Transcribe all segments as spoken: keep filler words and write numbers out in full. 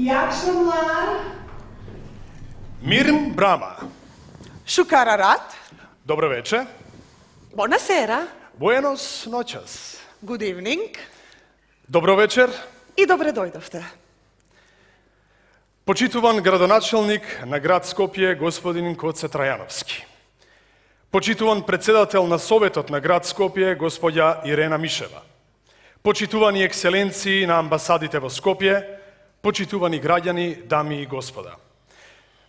Јакшамлар. Мирм Брама. Шукарарат. Добро вече. Бонасера. Буенос ночас. Good evening. Добро вечер. И добре дојдовте. Почитуван градоначелник на град Скопје, господин Коце Трајановски. Почитуван председател на Советот на град Скопје, господја Ирена Мишева. Почитувани екселенции на амбасадите во Скопје, почитувани граѓани, дами и господа.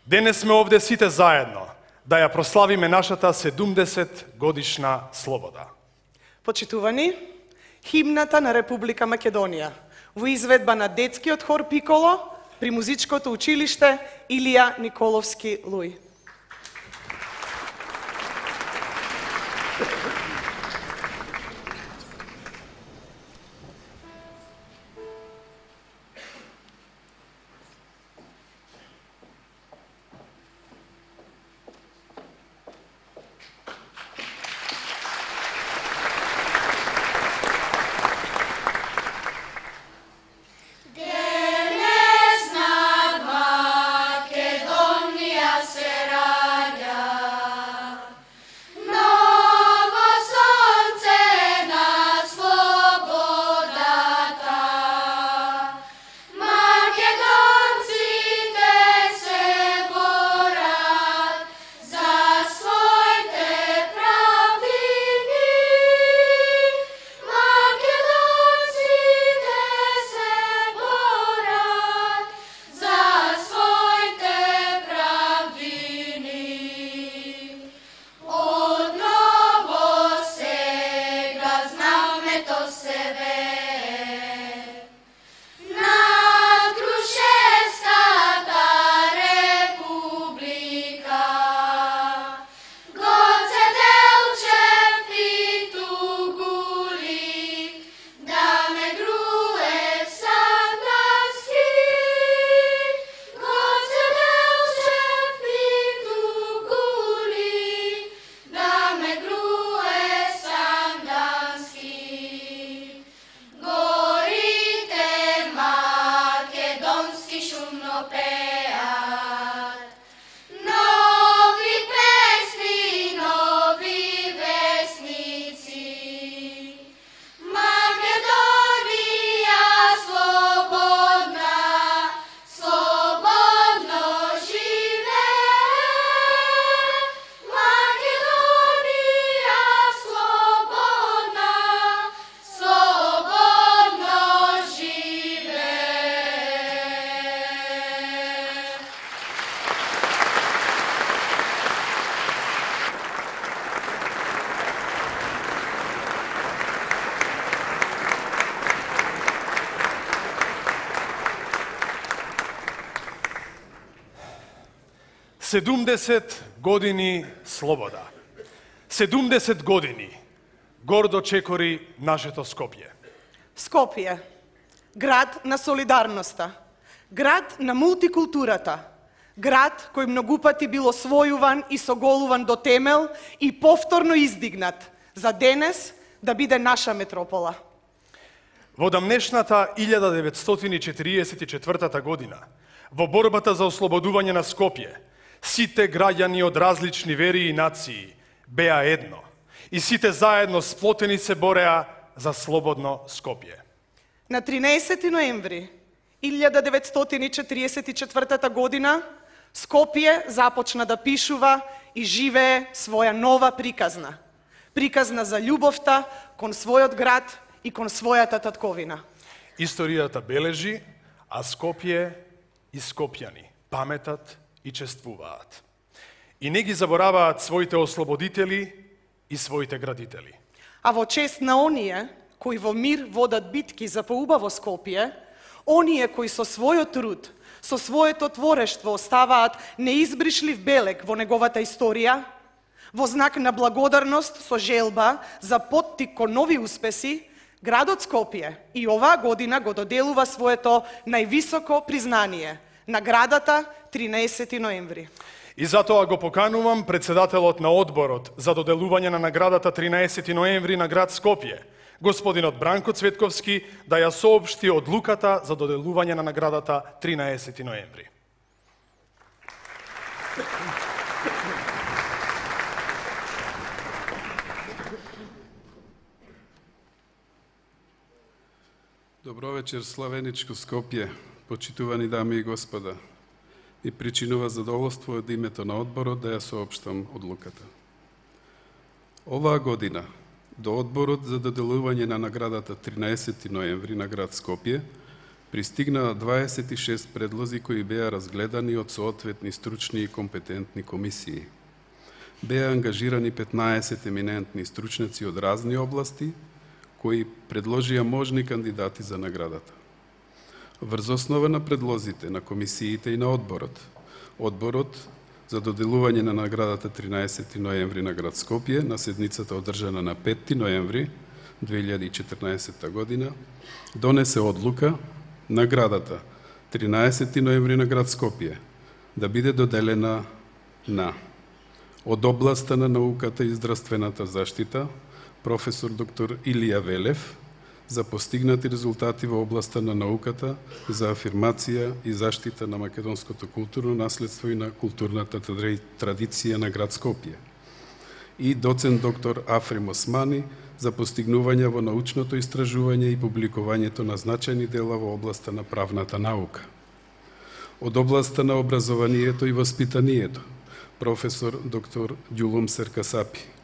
Денес сме овде сите заедно да ја прославиме нашата седумдесет годишна слобода. Почитувани, химната на Република Македонија во изведба на детскиот хор Пиколо при музичкото училиште Илија Николовски Луј. седумдесет години слобода. седумдесет години гордо чекори нашето Скопје. Скопје, град на солидарноста, град на мултикултурата, град кој многу пати бил освојуван и соголуван до темел и повторно издигнат за денес да биде наша метропола. Во дамнешната илјада деветстотини четириесет и четвртата година, во борбата за ослободување на Скопје, сите граѓани од различни вери и нации беа едно и сите заедно сплотени се бореа за слободно Скопје. На тринаесети ноември илјада деветстотини четириесет и четвртата година Скопје започна да пишува и живее своја нова приказна. Приказна за љубовта кон својот град и кон својата татковина. Историјата бележи, а Скопје и скопјани паметат и чествуваат. И не ги забораваат своите ослободители и своите градители. А во чест на оние кои во мир водат битки за поубаво Скопје, оние кои со својот труд, со своето творештво оставаат неизбришлив белег во неговата историја, во знак на благодарност со желба за поттик кон нови успеси, градот Скопје и оваа година го доделува своето највисоко признание – наградата тринаесети ноември. И затоа го поканувам председателот на одборот за доделување на наградата тринаесети ноември на град Скопје, господинот Бранко Цветковски, да ја соопшти одлуката за доделување на наградата тринаесети ноември. Добро вечер, славеничко Скопје, почитувани дами и господа. И причинува задоволство од името на одборот да ја соопштам одлуката. Оваа година, до одборот за доделување на наградата тринаесети ноември на град Скопје, пристигнаа дваесет и шест предлози кои беа разгледани од соодветни стручни и компетентни комисии. Беа ангажирани петнаесет еминентни стручници од разни области, кои предложија можни кандидати за наградата. Врз основа на предлозите на комисиите и на одборот, одборот за доделување на наградата тринаесети ноември на град Скопје на седницата одржана на петти ноември две илјади и четрнаесетта година донесе одлука наградата тринаесети ноември на град Скопје да биде доделена на од областа на науката и здравствената заштита професор доктор Илија Велев за постигнати резултати во областа на науката за афирмација и заштита на македонското културно наследство и на културната традиција на град Скопје. И доцент доктор Африм Османи за постигнување во научното истражување и публикувањето на значајни дела во областа на правната наука. Од областа на образованието и воспитанието професор доктор Ѓулум Серкасапи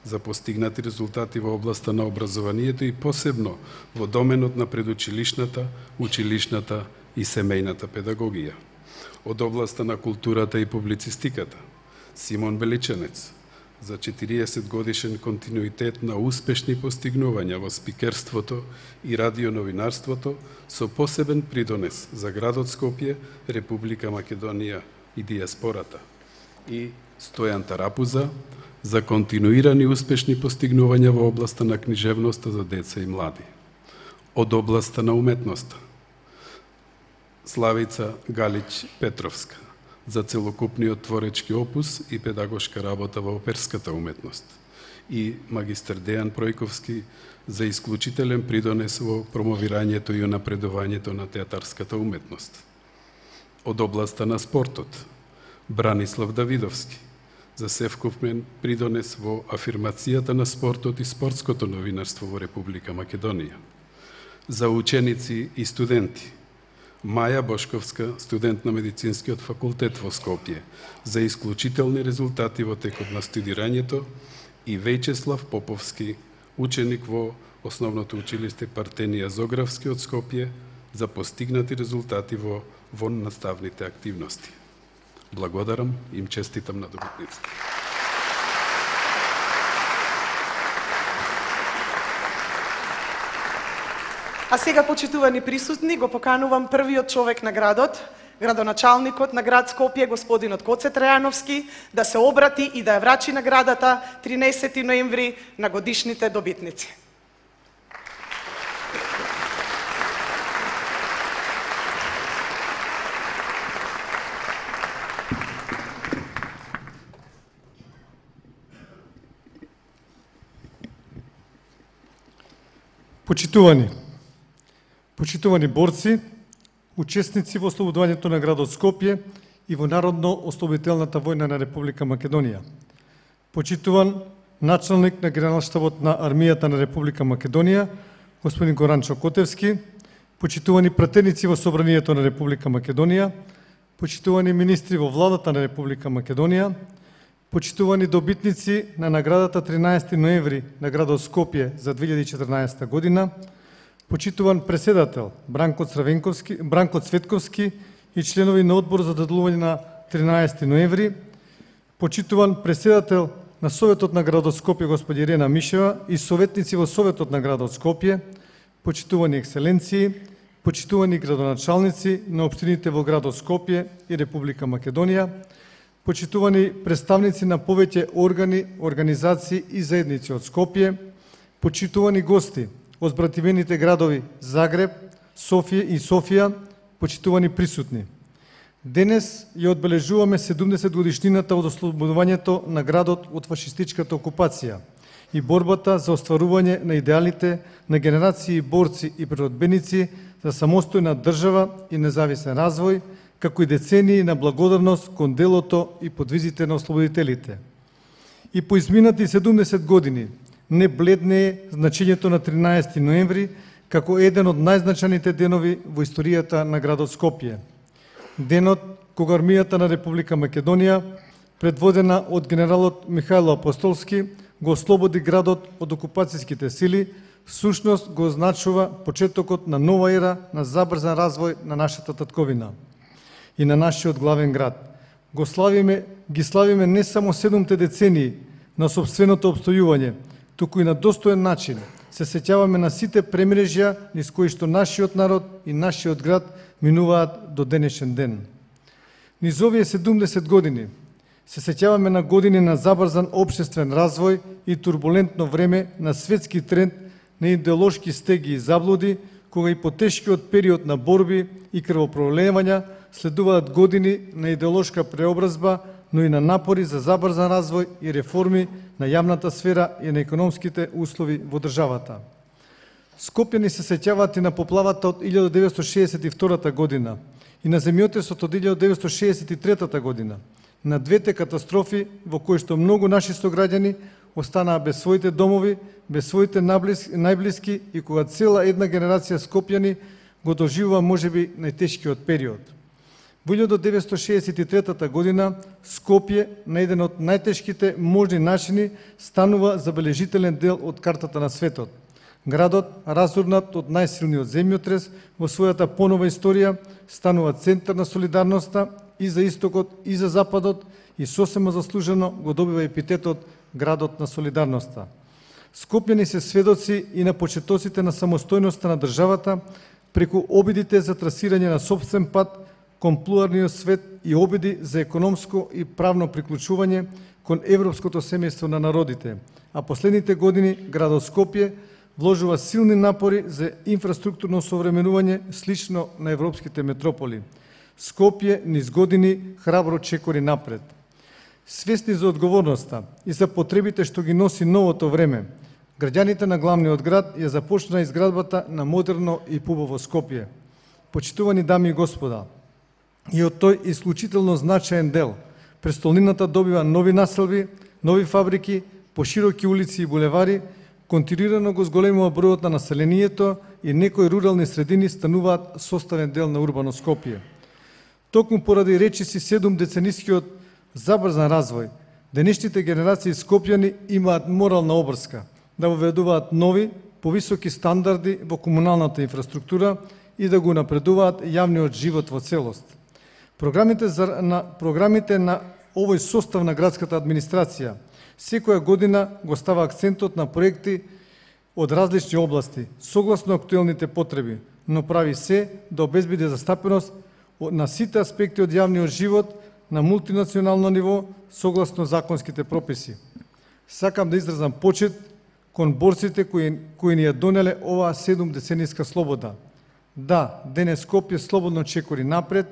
за постигнати резултати во областа на образованието и посебно во доменот на предучилишната, училишната и семејната педагогија. Од областа на културата и публицистиката Симон Величанец за четириесет годишен континуитет на успешни постигнувања во спикерството и радионовинарството со посебен придонес за градот Скопје, Република Македонија и диаспората. И Стојан Тарапуза за континуирани успешни постигнувања во областа на книжевноста за деца и млади. Од областа на уметноста Славица Галич Петровска за целокупниот творечки опус и педагошка работа во оперската уметност и магистер Дејан Пројковски за исклучителен придонес во промовирањето и унапредувањето на театарската уметност. Од областа на спортот Бранислав Давидовски за севкупен придонес во афирмацијата на спортот и спортското новинарство во Република Македонија. За ученици и студенти Маја Бошковска, студент на Медицинскиот факултет во Скопје, за исклучителни резултати во текот на студирањето и Вејчеслав Поповски, ученик во Основното училиште Партенија Зографски од Скопје, за постигнати резултати во воннаставните активности. Благодарам и им честитам на добитниците. А сега, почитувани присутни, го поканувам првиот човек на градот, градоначалникот на град Скопје, господинот Коце Трајановски, да се обрати и да ја врачи наградата тринаесети ноември на годишните добитници. Почитувани, почитувани борци, учесници во ослободувањето на градот Скопје и во Народно-ослободителната војна на Република Македонија. Почитуван началник на Генералштабот на Армијата на Република Македонија, господин Горанчо Котевски, почитувани пратеници во Собранието на Република Македонија, почитувани министри во Владата на Република Македонија, почитувани добитници на наградата тринаесети ноември на градот Скопје за две илјади и четрнаесетта година, почитуван преседател Бранко Цравенковски, Бранко Цветковски и членови на одбор за доделување на тринаесети ноември, почитуван преседател на Советот на градот Скопје господи Ирена Мишева и советници во Советот на градот Скопје, почитувани екселенции, почитувани градоначалници на општините во градот Скопје и Република Македонија, почитувани представници на повеќе органи, организации и заедници од Скопје, почитувани гости од збративените градови Загреб, Софија и Софија, почитувани присутни. Денес ја одбележуваме седумдесет годишнината од ослободувањето на градот од фашистичката окупација и борбата за остварување на идеалите на генерации борци и природбеници за самостојна држава и независен развој, како и децении на благодарност кон делото и подвизите на ослободителите. И по изминати седумдесет години не бледне е значењето на тринаесети ноември како еден од најзначајните денови во историјата на градот Скопје. Денот кога армијата на Република Македонија, предводена од генералот Михајло Апостолски, го ослободи градот од окупацијските сили, всушност го означува почетокот на нова ера на забрзан развој на нашата татковина и на нашиот главен град. Го славиме, ги славиме не само седумте децении на собственото обстојување, туку и на достоен начин се сеќаваме на сите премрежја низ кои што нашиот народ и нашиот град минуваат до денешен ден. Низ овие седумдесет години се сеќаваме на години на забрзан општествен развој и турбулентно време на светски тренд на идеолошки стеги и заблуди, кога и по тешкиот период на борби и крвопролевања следуваат години на идеолошка преобразба, но и на напори за забрзан развој и реформи на јавната сфера и на економските услови во државата. Скопјани се сеќаваат и на поплавата од илјадесет деветстотини шеесет и втора година и на земјотресот од илјадесет деветстотини шеесет и трета година, на двете катастрофи во кои што многу наши сограѓани останаа без своите домови, без своите најблиски и кога цела една генерација скопјани го доживува можеби најтешкиот период. Во илјадесет деветстотини шеесет и трета година Скопје на еден од најтешките можни начини станува забележителен дел од картата на светот. Градот, разурнат од најсилниот земјотрес во својата понова историја, станува центар на солидарноста и за истокот и за западот и сосема заслужено го добива епитетот градот на солидарноста. Скопјани се сведоци и на почетоците на самостојноста на државата преку обидите за трасирање на сопствен пат кон плуралниот свет и обиди за економско и правно приклучување кон европското семејство на народите, а последните години градот Скопје вложува силни напори за инфраструктурно современување слично на европските метрополи. Скопје низ години храбро чекори напред. Свесни за одговорноста и за потребите што ги носи новото време, граѓаните на главниот град ја започна изградбата на модерно и пубаво Скопје. Почитувани дами и господа, и од тој исклучително значаен дел, престолнината добива нови населби, нови фабрики, пошироки улици и булевари, континуирано го зголемува бројот на населението и некои рурални средини стануваат составен дел на урбано Скопје. Токму поради речиси седум деценискиот забрзан развој, денешните генерации скопјани имаат морална обврска да воведуваат нови, повисоки стандарди во комуналната инфраструктура и да го напредуваат јавниот живот во целост. Програмите, за, на, програмите на овој состав на градската администрација секоја година го става акцентот на проекти од различни области, согласно актуелните потреби, но прави се да обезбеди застапеност на сите аспекти од јавниот живот на мултинационално ниво, согласно законските прописи. Сакам да изразам почит кон борците кои, кои ни ја донеле оваа седум децениска слобода. Да, денес Скопје слободно чекори напред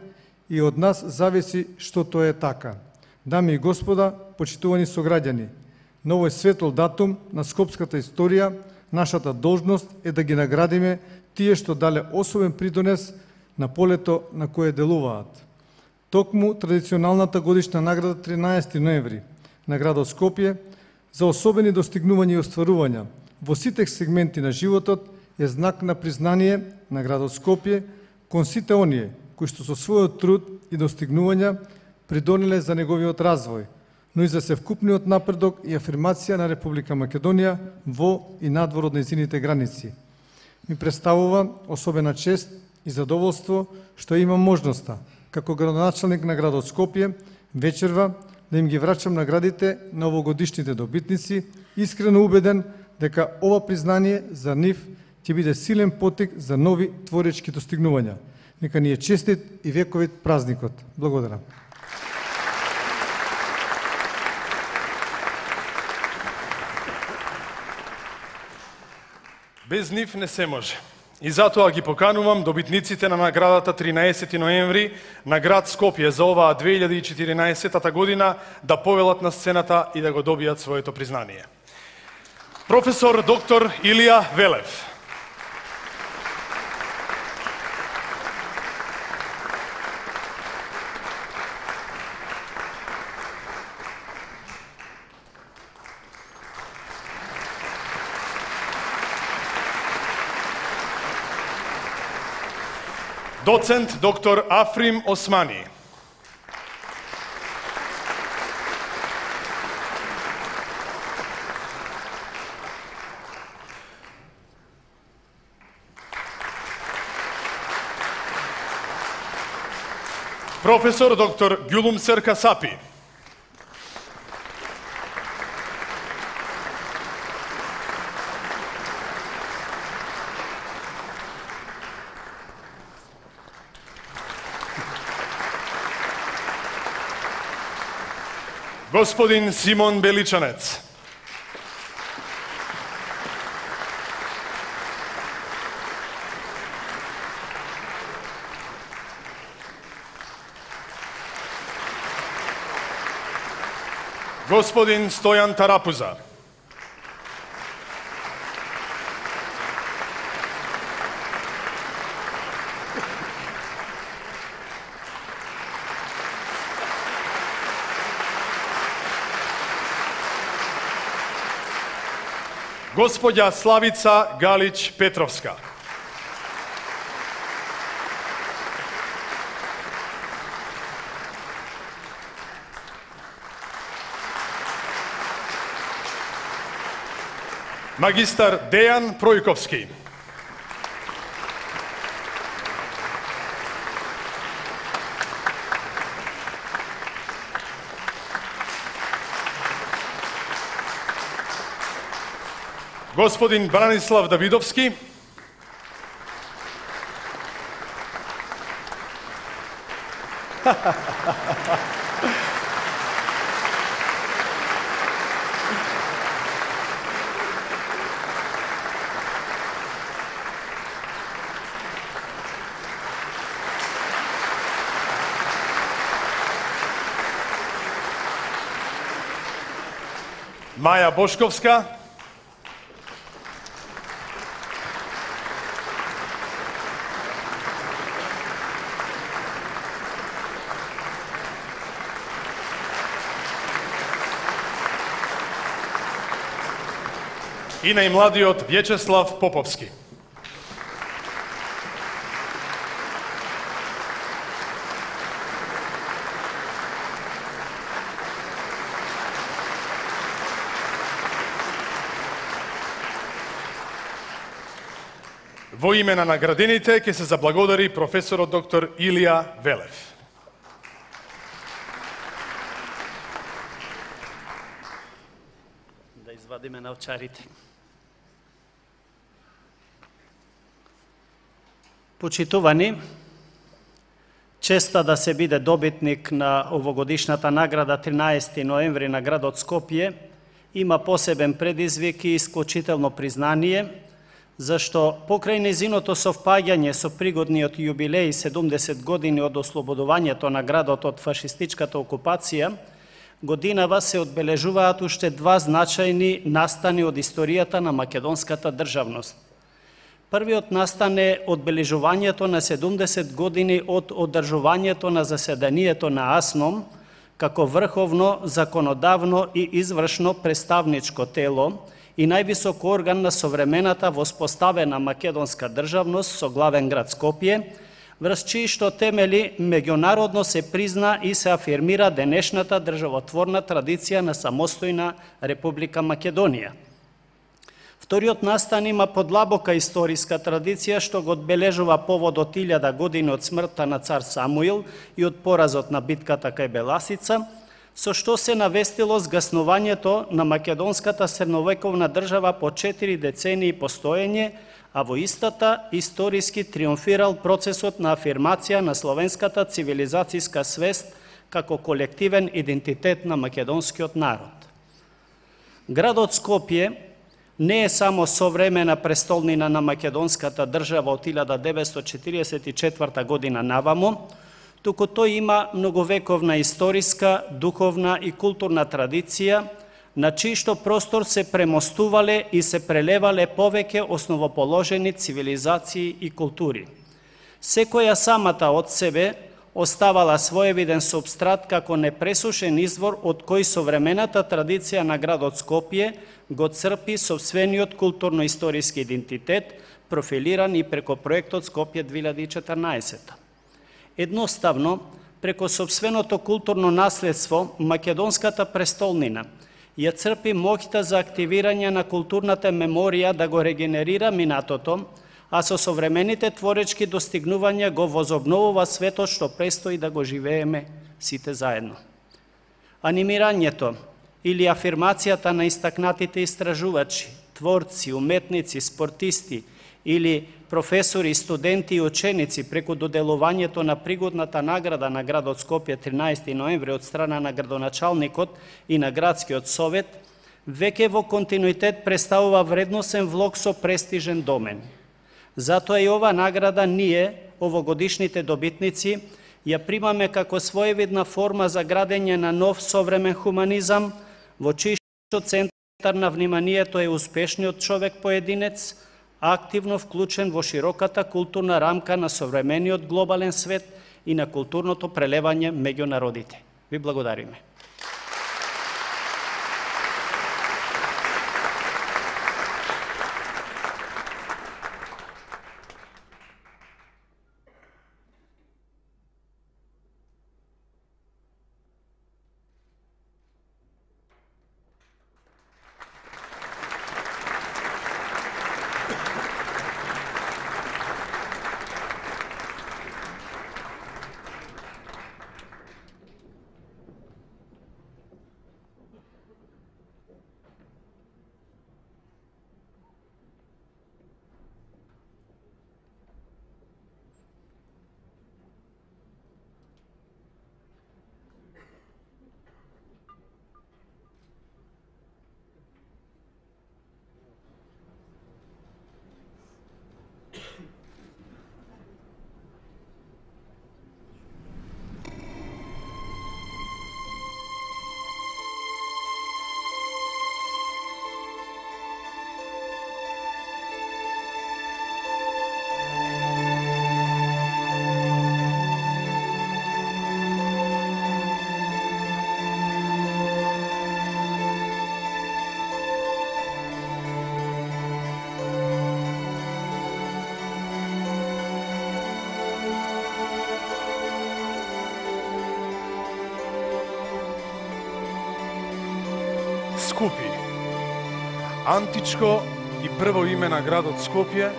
и од нас зависи што тоа е така. Дами и господа, почитувани сограѓани, на овој светол датум на скопската историја, нашата должност е да ги наградиме тие што дале особен придонес на полето на кое делуваат. Токму традиционалната годишна награда тринаесети ноември на градот Скопје за особени достигнувања и остварувања во сите сегменти на животот е знак на признание на градот Скопје кон сите оние кои што со својот труд и достигнувања придонеле за неговиот развој, но и за севкупниот напредок и афирмација на Република Македонија во и надвор од нејзините граници. Ми представува особена чест и задоволство што имам можноста, како градоначалник на градот Скопје, вечерва да им ги врачам наградите на овогодишните добитници, искрено убеден дека ова признание за нив ќе биде силен поттик за нови творечки достигнувања. Нека ни е честит и вековит празникот. Благодарам. Без нив не се може. И затоа ги поканувам добитниците на наградата тринаесети ноември на град Скопје за оваа две илјади и четиринаесета година да повелат на сцената и да го добијат своето признание. Професор доктор Илија Велев. Доцент доктор Африм Османи. Професор доктор Гюлумсер Касапи. Господин Симон Беличанец. Господин Стојан Тарапуза. Господја Славица Галич Петровска. Магистар Дејан Пројковски. Господин Бранислав Давидовски. Маја Бошковска. И најмладиот Вјечеслав Поповски. Во име на наградените ќе се заблагодари професорот доктор Илија Велев. Да извадиме научарите. Почитувани, честа да се биде добитник на овогодишната награда тринаесети ноември на градот Скопје има посебен предизвик и исклучително признание, зашто покрај незиното совпаѓање со пригодниот јубилеј седумдесет години од ослободувањето на градот од фашистичката окупација, годинава се одбележуваат уште два значајни настани од историјата на македонската државност. Првиот настан е одбележувањето на седумдесет години од одржувањето на заседанието на АСНОМ како врховно, законодавно и извршно представничко тело и највисок орган на современата воспоставена македонска државност со главен град Скопје, врз чии што темели меѓународно се призна и се афирмира денешната државотворна традиција на самостојна Република Македонија. Вториот настан има подлабока историска традиција што го одбележува поводот илјада години од смртта на цар Самуил и од поразот на битката кај Беласица, со што се навестило згаснувањето на македонската средновековна држава по четири децении постоење, а во истата историски триумфирал процесот на афирмација на словенската цивилизацијска свест како колективен идентитет на македонскиот народ. Градот Скопје не е само современа престолнина на македонската држава од илјада деветстотини четиридесет и четврта година навамо, туку тој има многовековна историска, духовна и културна традиција, на чијшто простор се премостувале и се прелевале повеќе основоположени цивилизации и култури. Секоја самата од себе оставала своевиден субстрат како непресушен извор од кој современата традиција на градот Скопје го црпи сопствениот културно-историски идентитет, профилиран и преко проектот Скопје две илјади и четрнаесетта. Едноставно, преко сопственото културно наследство, македонската престолнина ја црпи моќта за активирање на културната меморија да го регенерира минатото, а со современите творечки достигнувања го возобновува светот што престои да го живееме сите заедно. Анимирањето или афирмацијата на истакнатите истражувачи, творци, уметници, спортисти или професори, студенти и ученици преку доделувањето на пригодната награда на градот Скопје тринаесети ноември од страна на градоначалникот и на градскиот совет, веќе во континуитет представува вредносен влог со престижен домен. Затоа и ова награда ние, овогодишните добитници, ја примаме како своевидна форма за градење на нов современ хуманизам, во чијшто центар на вниманието е успешниот човек-поединец, активно вклучен во широката културна рамка на современиот глобален свет и на културното прелевање меѓу народите. Ви благодариме. Скупи. Античко и прво име на градот Скопје,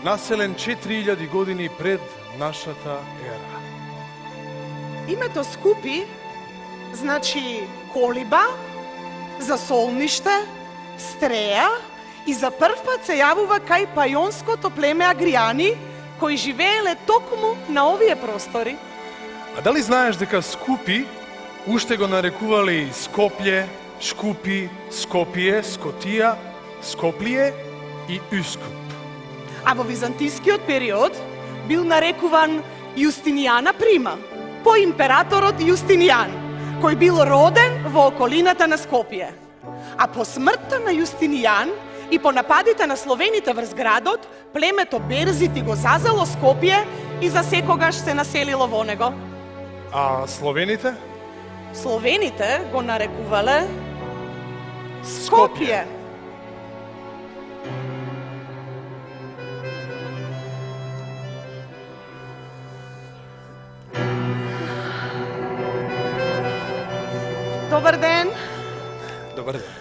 населен четири илјади години пред нашата ера. Името Скупи значи колиба, засолниште, стреја и за прв пат се јавува кај пајонското племе Агријани, кои живееле токму на овие простори. А дали знаеш дека Скупи уште го нарекувале и Скопје, Шкупи, Скопие, Скотија, Скоплие и Ускуп? А во византискиот период бил нарекуван Јустинијана Прима, по императорот Јустинијан, кој бил роден во околината на Скопје. А по смртта на Јустинијан и по нападите на словените врз градот, племето Берзити го зазело Скопје и за секогаш се населило во него. А словените? Словените го нарекувале Скопје. Добар ден. Добар ден.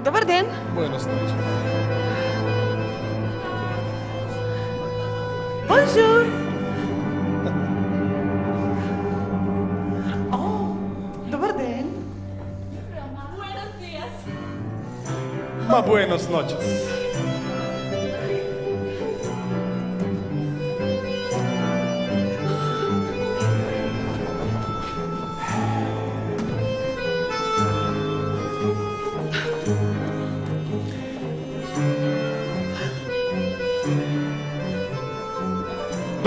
Добар ден. Буенос ноќи. Бонжур. О, добар ден. Ма буенос ноќес.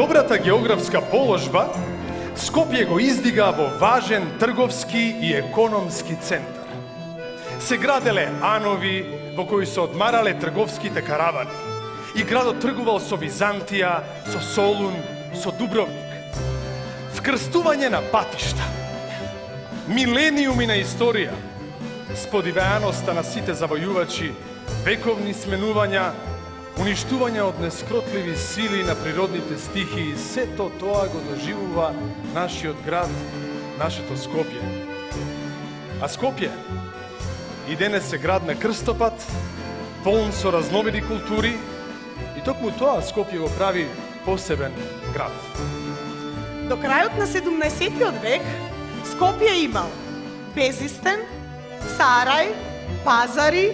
добрата географска положба, Скопје го издига во важен трговски и економски центар. Се граделе анови во кои се одмарале трговските каравани и градот тргувал со Византија, со Солун, со Дубровник. Вкрстување на патишта, милениуми на историја, сподивеаноста на сите завојувачи, вековни сменувања, уништување од нескротливи сили на природните стихии, сето тоа го доживува нашиот град, нашето Скопје. А Скопје и денес е град на крстопат, полн со разновидни култури, и токму тоа Скопје го прави посебен град. До крајот на седумнаесеттиот век Скопје имал безистен, сарај, пазари,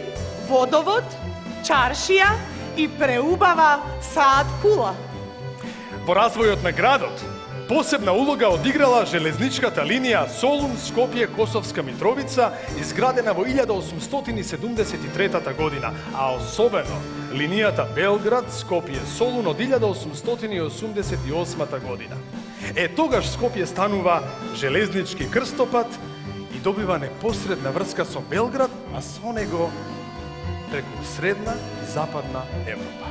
водовод, чаршија и преубава саат кула. Во развојот на градот посебна улога одиграла железничката линија Солун-Скопје-Косовска Митровица, изградена во илјада осумстотини и седумдесет и трета година, а особено линијата Белград-Скопје-Солун од илјада осумстотини и осумдесет и осма година. Е, тогаш Скопје станува железнички крстопат и добива непосредна врска со Белград, а со него преку средна и западна Европа.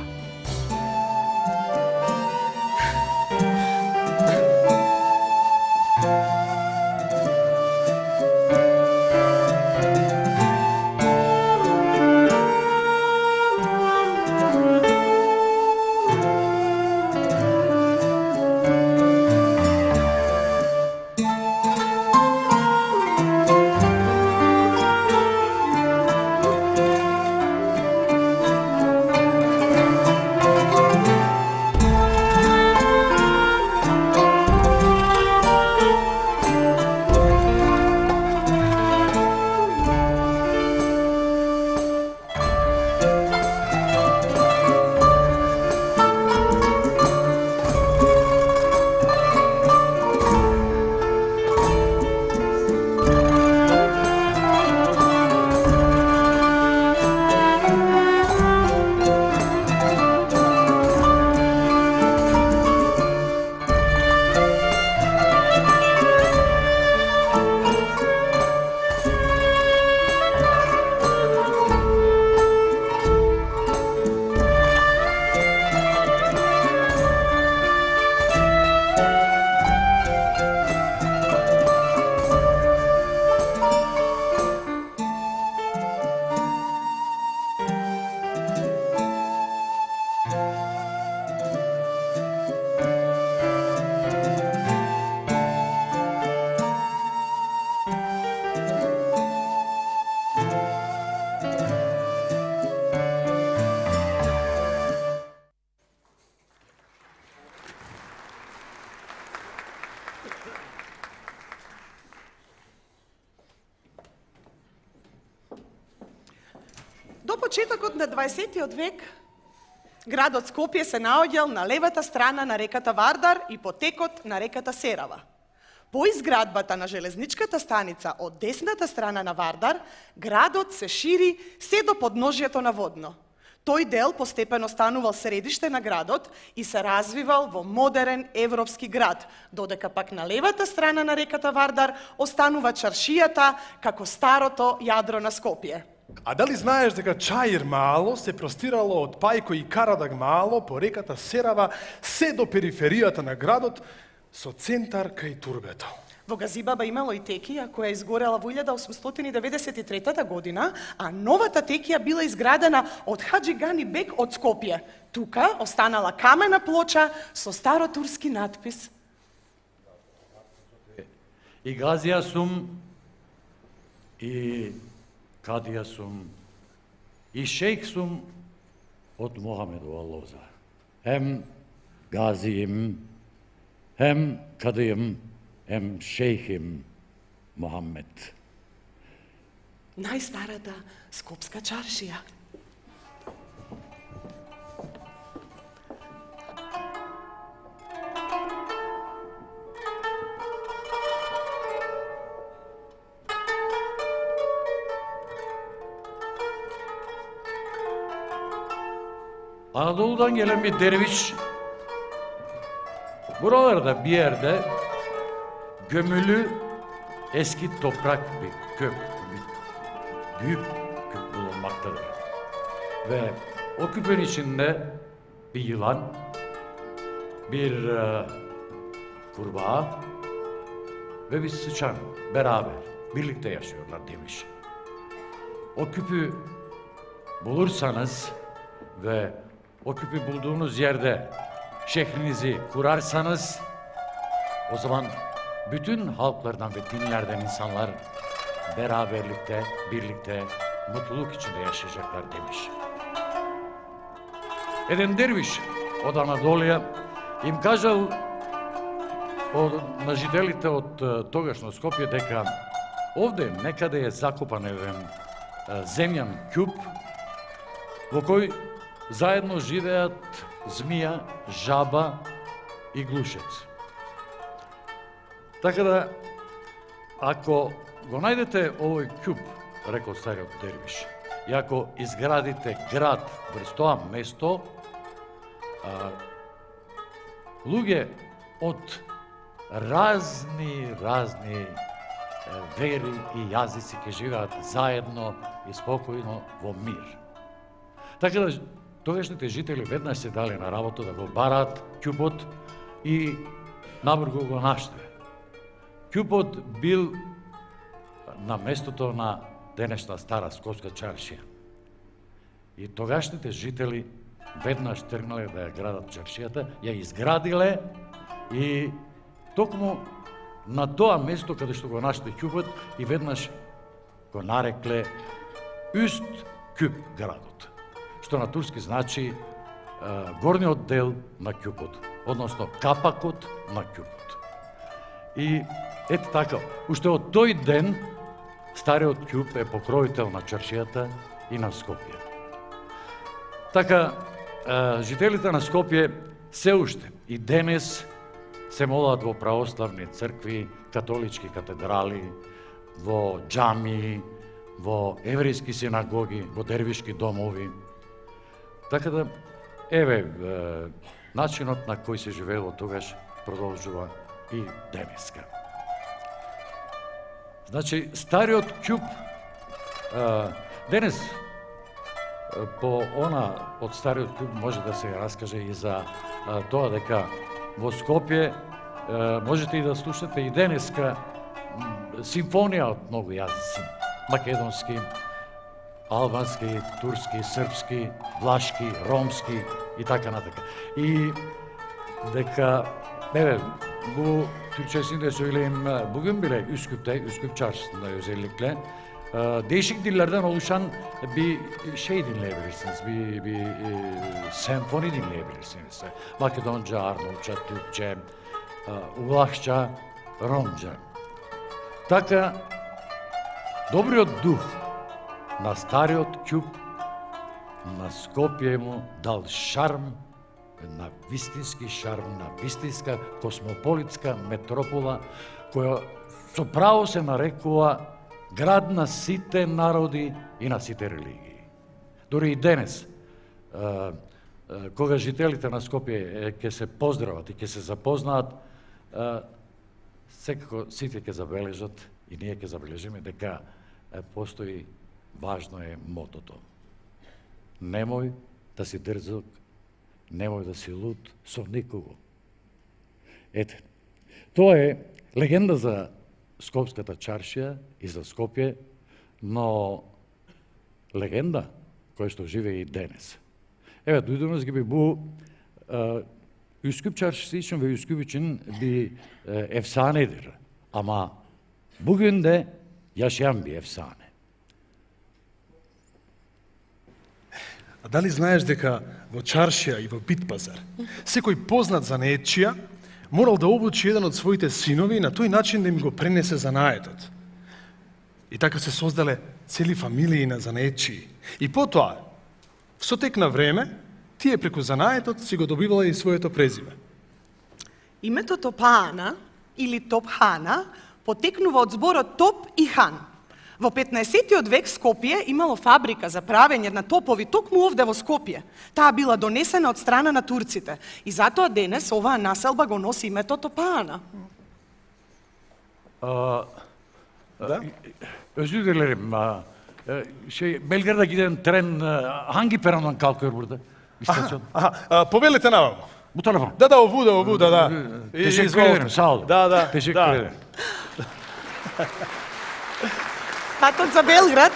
До почетокот на дваесеттиот век, градот Скопје се наоѓал на левата страна на реката Вардар и потекот на реката Серава. По изградбата на железничката станица од десната страна на Вардар, градот се шири се до подножјето на Водно. Тој дел постепено станувал средиште на градот и се развивал во модерен европски град, додека пак на левата страна на реката Вардар останува чаршијата како старото јадро на Скопје. А дали знаеш дека Чаир Мало се простирало од Пајко и Карадаг Мало по реката Серава се до периферијата на градот со центар кај турбето? Во Газибаба имало и текија која изгорела во илјада осумстотини деветдесет и трета година, а новата текија била изградена од Хаџи Гани Бек од Скопје. Тука останала камена плоча со старотурски натпис. И газија сум, и кадија сум, и шејх сум од Мохамедова лоза. Хем газијим, хем кадијим, хем шејхим Мохамед. Најстарата скопска чаршија. Анадолудан гелен bir derviş Buralarda bir yerde gömülü eski toprak bir köp, bir büyük küp bulunmaktadır. Ve o küpün içinde bir yılan, bir e, kurbağa ve bir sıçan beraber birlikte yaşıyorlar demiş. O küpü bulursanız ve o küpü bulduğunuz yerde şehrinizi kurarsanız o zaman bütün halklardan ve dinlerden insanlar beraberlikte, birlikte, mutluluk içinde yaşayacaklar demiş. Един дервиш од Анадолија им кажал на жителите од тогашно Скопје дека овде некаде е закопан еден земјан ќуп во кој заедно живеат змија, жаба и глушец. Така да, ако го најдете овој ќуп, рекол стариот дервиш, и ако изградите град врз тоа место, а, луѓе од разни, разни вери и јазици ќе живеат заедно и спокојно во мир. Така да, тогашните жители веднаш се дали на работа да го бараат ќупот и набрзо го нашле. Ќупот бил на местото на денешна стара Скопска чаршија. И тогашните жители веднаш тргнале да ја градат чаршијата, ја изградиле и токму на тоа место каде што го нашле ќупот и веднаш го нарекле Üst Küp градот, што на турски значи е, горниот дел на ќупот, односно капакот на ќупот. И ето така, уште од тој ден стариот ќуп е покровител на чаршијата и на Скопје. Така, жителите на Скопје се уште и денес се молат во православни цркви, католички катедрали, во џамии, во еврејски синагоги, во дервишки домови. Така да, еве, начинот на кој се живеело тогаш продолжува и денеска. Значи, стариот ќуп, денес, по она од стариот ќуп може да се раскаже и за тоа дека во Скопје можете и да слушате и денеска симфонија од многу јазици. Македонски, албански, турски, српски, влашки, ромски и така натака. И дека, еве, bu Türkçesini de söyleyeyim. Bugün bile Üsküp'te, Üsküp Çarşısı'nda özellikle değişik dillerden oluşan bir şey dinleyebilirsiniz. Bir, bir e, senfoni dinleyebilirsiniz. Makedonca, Arnavutça, Türkçe, Vlahça, Romca. Така, добриот дух на стариот ќуп на Скопје му дал шарм, на вистински шарм, на вистинска космополитска метропола, која со право се нарекува град на сите народи и на сите религии. Дори и денес, кога жителите на Скопје ќе се поздрават и ќе се запознаат, секако сите ќе забележат и ние ќе забележиме дека постои, важно е мотото. Немој да си дрзок, немој да си луд со никого. Ете, тоа е легенда за Скопската чаршија и за Скопје, но легенда која што живее и денес. Еве, дујдунuz gibi bu e, Üsküp çarşısı için ve Üsküp için bir e, efsanedir. Ama bugün de yaşayan bir efsane. А дали знаеш дека во чаршија и во Битпазар секој познат занаетчија морал да обучи еден од своите синови и на тој начин да им го пренесе занаетот. И така се создале цели фамилии на занаетчии. И потоа, со тек на време, тие преку занаетот си го добивале и своето презиме. Името Топана или Топхана потекнува од зборот топ и хан, Во петнаесеттиот век Скопје имало фабрика за правење на топови токму овде во Скопје. Таа била донесена од страна на турците и затоа денес оваа населба го носи името Топаана. Uh, uh, Özür dilerim. Uh, şey, Belgrad'a giden tren uh, hangi perondan kalkıyor burada? İstasyon. Аха, а, повелете наваму. Bu tarafa. Да, да, овуда, овуда, да. И- Teşekkür изволите. ederim, sağ olun. Да, да. Teşekkür да. ederim. Патот за Белград.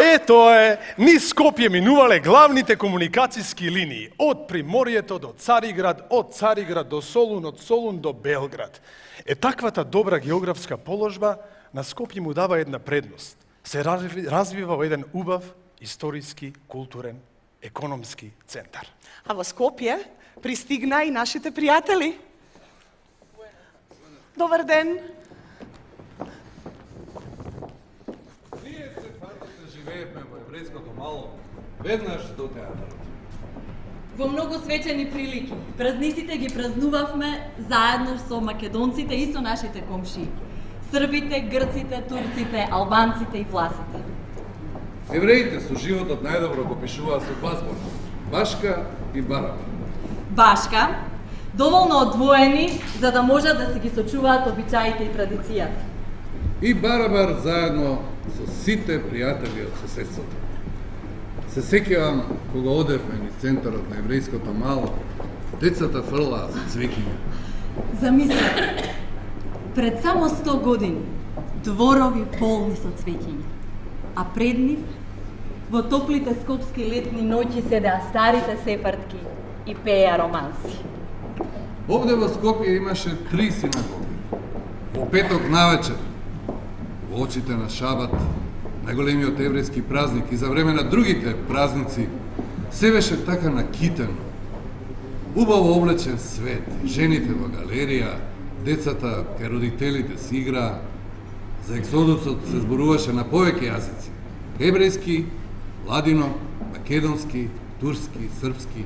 Е, тоа е, низ Скопје минувале главните комуникацијски линии, од Приморието до Цариград, од Цариград до Солун, од Солун до Белград. Е, таквата добра географска положба на Скопје му дава една предност. Се разви- развива во еден убав историски, културен, економски центар. А во Скопје пристигна и нашите пријатели. Добар ден. Ние се фантите живеевме во еврејското мало, веднаш до театарот. Во многу свечени прилики. Празниците ги празнувавме заедно со македонците и со нашите комшии. Србите, грците, турците, албанците и власите. Евреите со животот најдобро го пишуваат со два збора. Башка и бараба. Башка, доволно одвоени за да можат да се ги сочуваат обичаите и традицијата. И барабар заедно со сите пријатели од соседството. Се сеќавам кога одевме низ центарот на еврејското мало, децата фрлаа со цвеќиња. Замислете, пред само сто години дворови полни со цвеќиња, а пред нив во топлите скопски летни ноќи седеа старите сепартки и пееа романси. Овде во Скопје имаше три синагоги. Во петок навечер, во очите на Шабат, најголемиот еврејски празник и за време на другите празници, се беше така накитено. Убаво облечен свет, жените во галерија, децата кај родителите си играа. За ексодусот се зборуваше на повеќе јазици. Еврејски, ладино, македонски, турски, српски.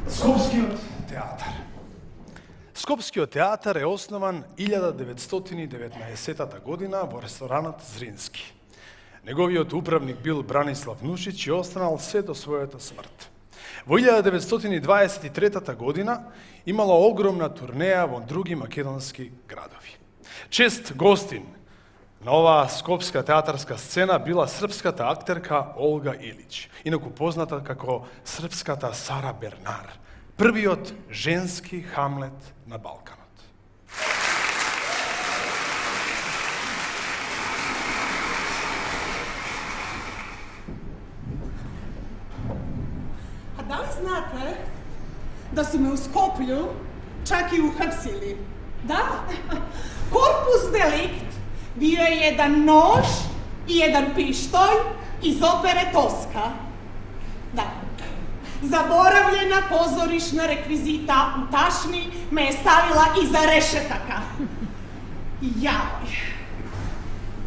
Скопскиот театар. Скопскиот театар е основан илјада деветстотини и деветнаесеттата година во ресторанот Зрински. Неговиот управник бил Бранислав Нушич и останал се до својата смрт. Во илјада деветстотини дваесет и третата година имала огромна турнеја во други македонски градови. Чест гостин на оваа скопска театарска сцена била српската актерка Олга Илич, инаку позната како српската Сара Бернар, првиот женски Хамлет на Балканот. А дали знате да су ме у Скопју чак и ухапсили? Да? Корпус деликт био е еден нож и еден пиштолј из опере Тоска. Да. Заборавljena позоришна реквизита у Ташни ме е ставила иза решетака. Јај.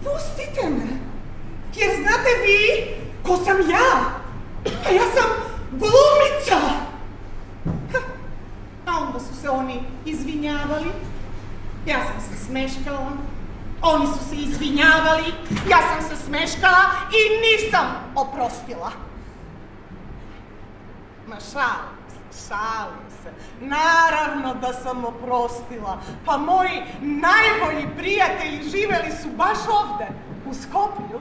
Пустите ме, jer znate vi ko sam ja, a ja sam glumica. A onda su se oni izvinjavali, ja sam se smeškala, oni su se izvinjavali, ja sam se smeškala i nisam oprostila. Ma šalim se, šalim se. Naravno da sam oprostila. Pa moji najbolji prijatelji živeli su baš ovde, u Skopju.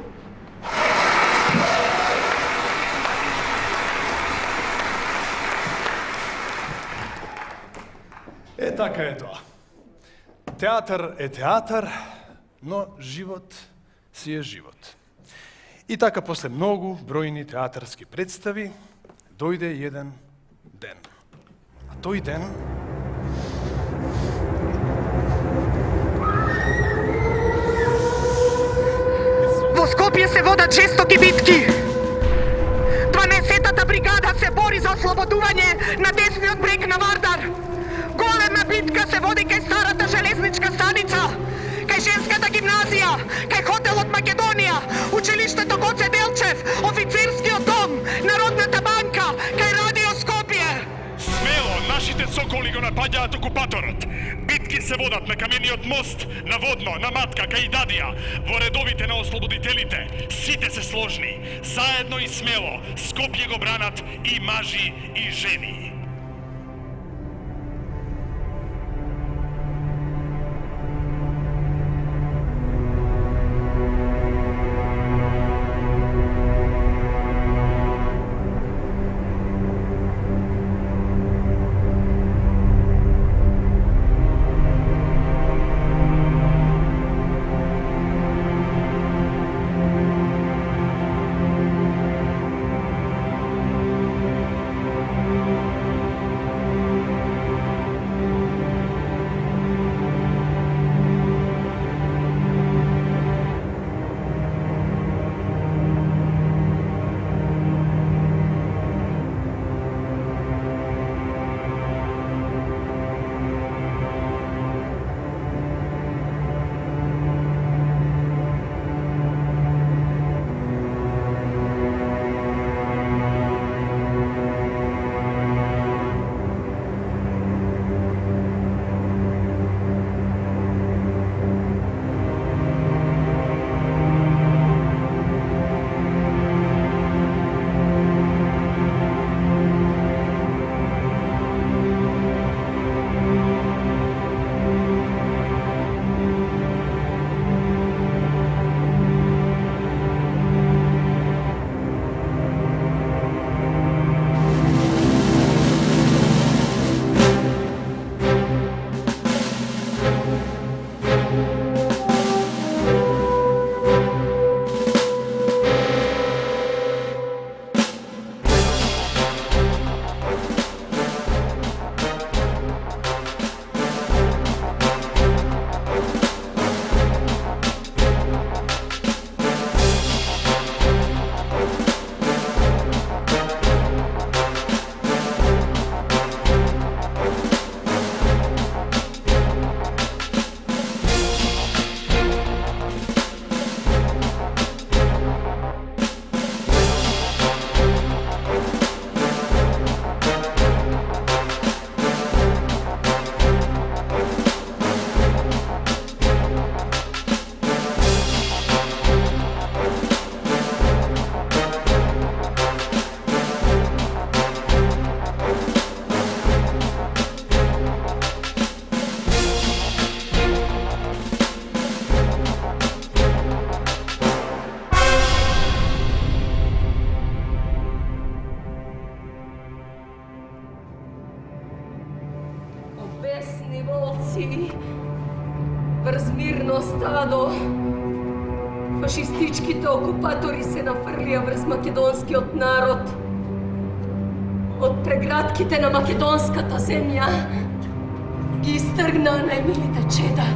Е, така е тоа. Театар е театар, но живот си е живот. И така, после многу бројни театарски представи, дојде еден ден. А тој ден Во Скопје се водат жестоки битки. дванаесеттата бригада се бори за ослободување на десниот брег на Вардар. Голема битка се води кај старата железничка станица, кај женската гимназија, кај хотелот Македонија, училиштето Гоце Делчев, офицерскиот дом, Народната банка, кај Радио Скопје. коли го напаѓаат окупаторот. Битки се водат на камениот мост, на Водно, на Матка, кај Дадија, во редовите на ослободителите. Сите се сложни, заедно и смело, Скопје го бранат и мажи и жени. врз мирно стадо. Фашистичките окупатори се нафрлија врз македонскиот народ. Од преградките на македонската земја ги истргнаа најмилите чеда.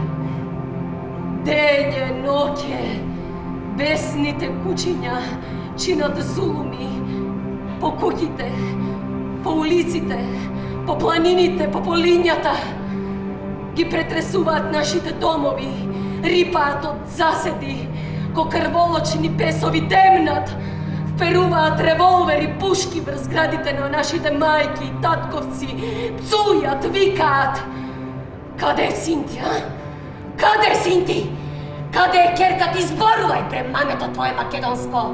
Дење, ноќе, бесните кучиња чинат зулуми по куќите, по улиците, по планините, по полињата. Ги претресуваат нашите домови, рипаат од заседи, ко крволочни песови демнат, вперуваат револвери, пушки врз градите на нашите мајки и татковци, пцујат, викаат. Каде е Синтија? Каде е Синти? Каде е керка ти, зборувај пре мамето твое македонско?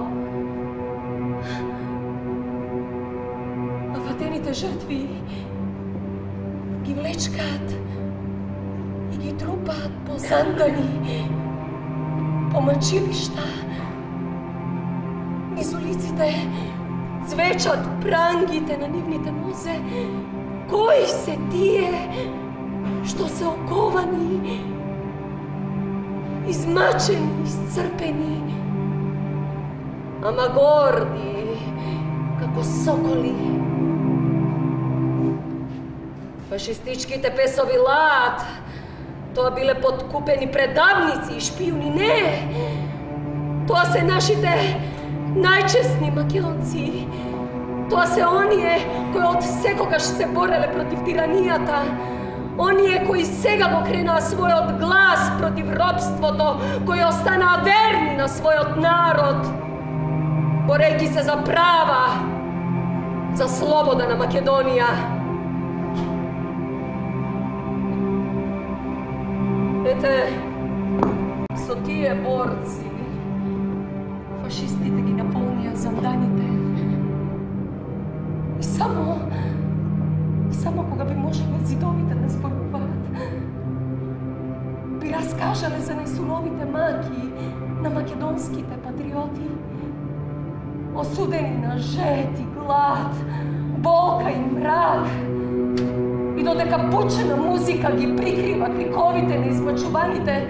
А ватените жртви ги влечкаат и ги трупаат по зандани, по мачилишта. Низ улиците цвечат прангите на нивните нозе. Кои се тие што се оковани, измачени, iscrpени, ама горди како соколи? Фашистичките песови лаат. Тоа биле подкупени предавници и шпиуни. Не! Тоа се нашите најчесни македонци. Тоа се оние кои од секогаш се бореле против тиранијата. Оние кои сега го кренаа својот глас против робството, кои останаа верни на својот народ, борејќи се за права, за слобода на Македонија. Ете, со тие борци, фашистите ги наполнија занданите. И само, само кога би можеле зидовите да зборуваат, би раскажале за најсуровите маки на македонските патриоти, осудени на жет и глад, болка и мрак, и додека пучена музика ги прикрива криковите на избачуваните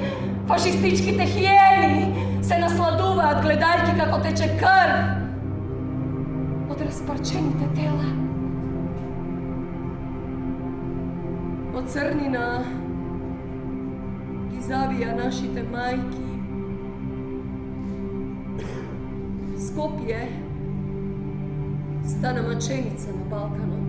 фашистичките хиени, се насладуваат гледајќи како тече крв од распарчените тела. Од црнина ги завија нашите мајки. Скопје стана маченица на Балканот.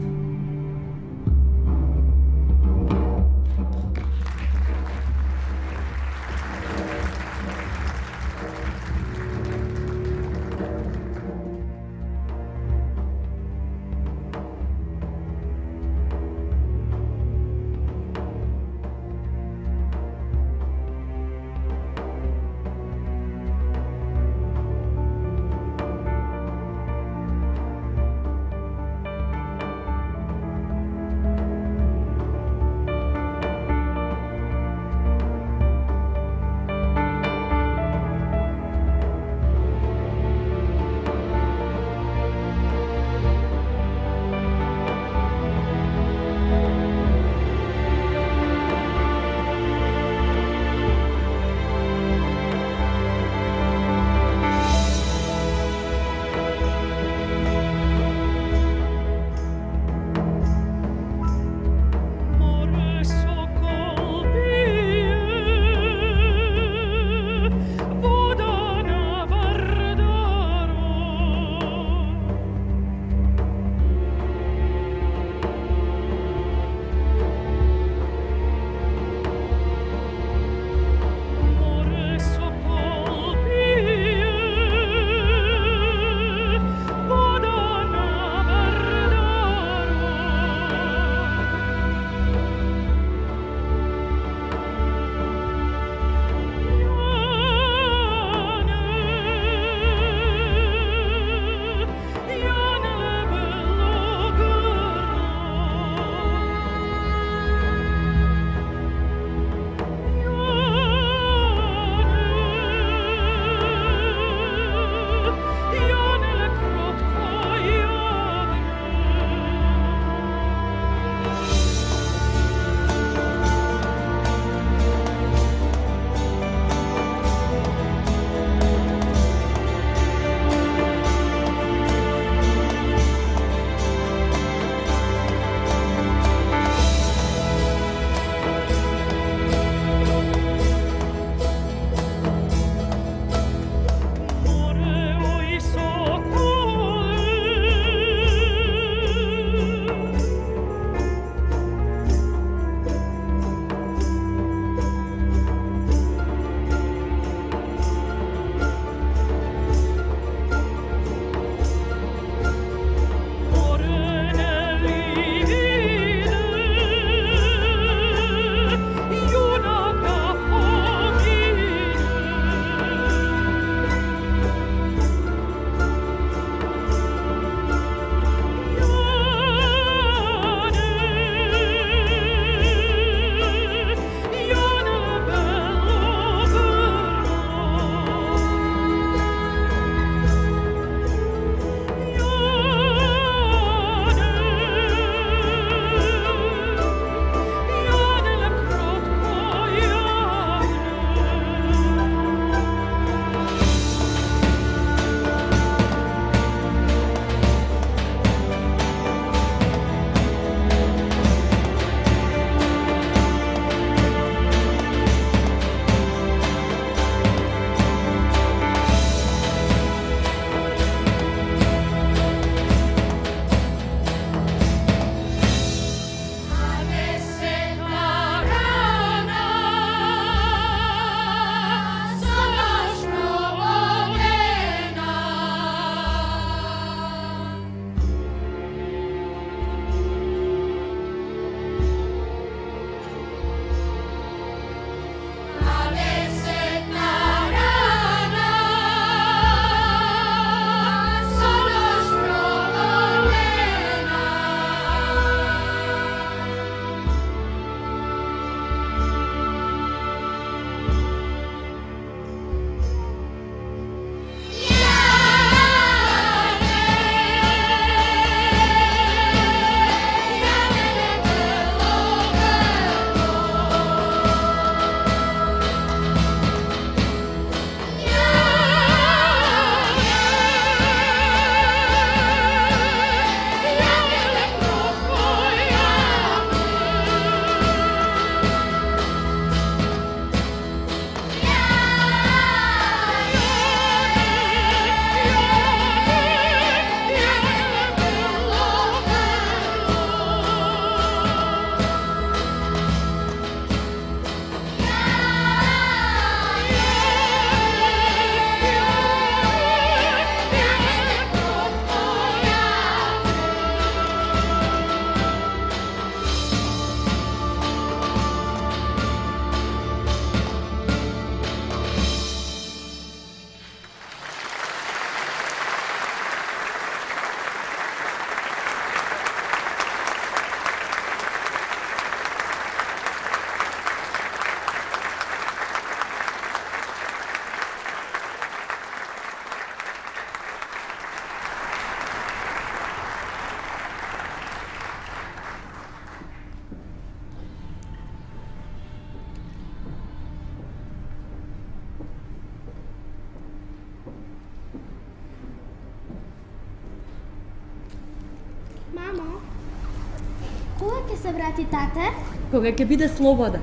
се врати тате? Кога ќе биде слобода.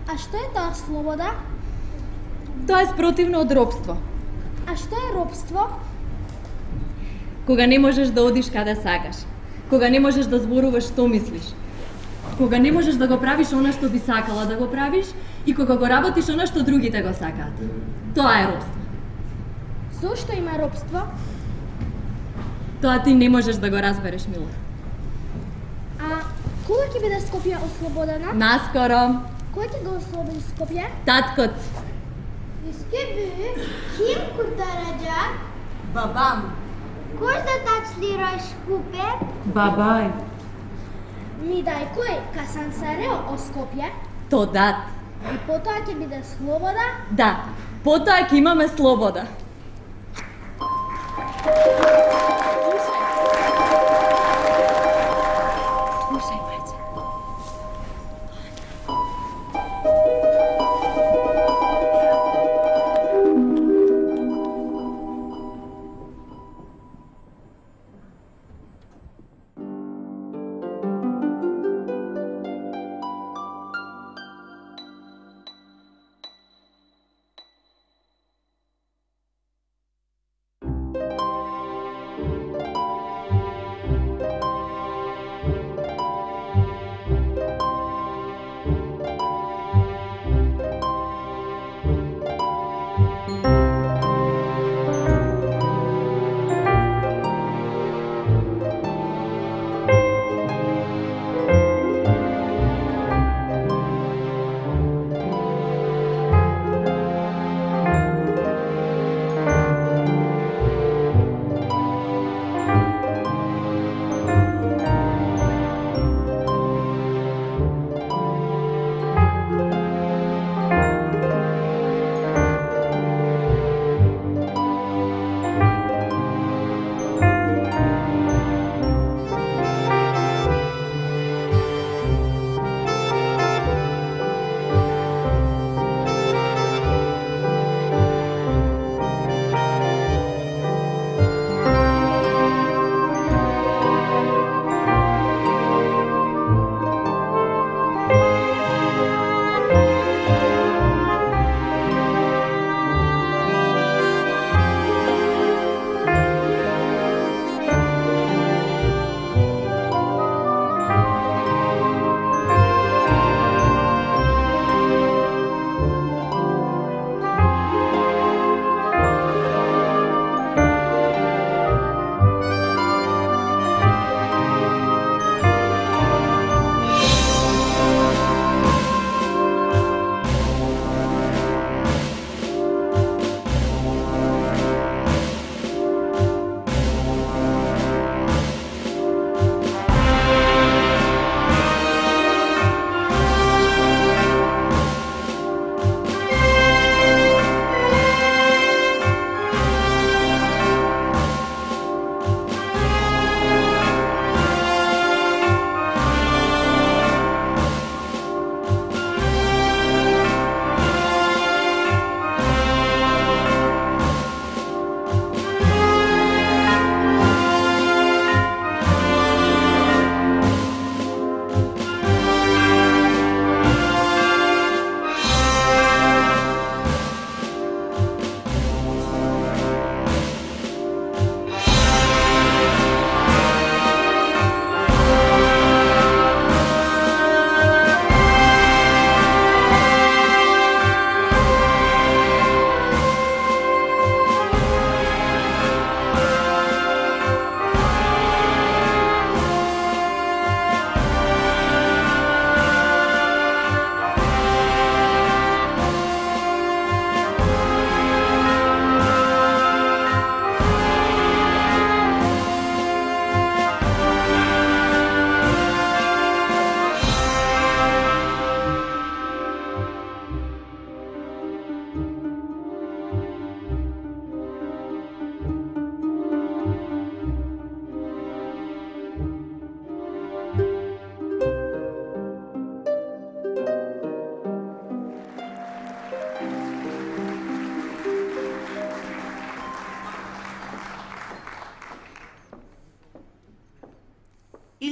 А што е тоа слобода? Тоа е спротивно од робство. А што е робство? Кога не можеш да одиш каде сакаш. Кога не можеш да зборуваш што мислиш. Кога не можеш да го правиш она што би сакала да го правиш и кога го работиш она што другите го сакаат. Тоа е робство. Зошто има робство? Тоа ти не можеш да го разбереш, Мило. А кога ќе биде Скопје ослободена? Наскоро. Кој ќе го ослободи Скопје? Таткот. Искеби, ким куртараджа? Бабам. Кој за тачлираш купе? Бабај. Ми дај кој касан сарео о Скопје? То дат. И потоа ќе биде слобода? Да, потоа ќе имаме слобода. Слушај, мајче.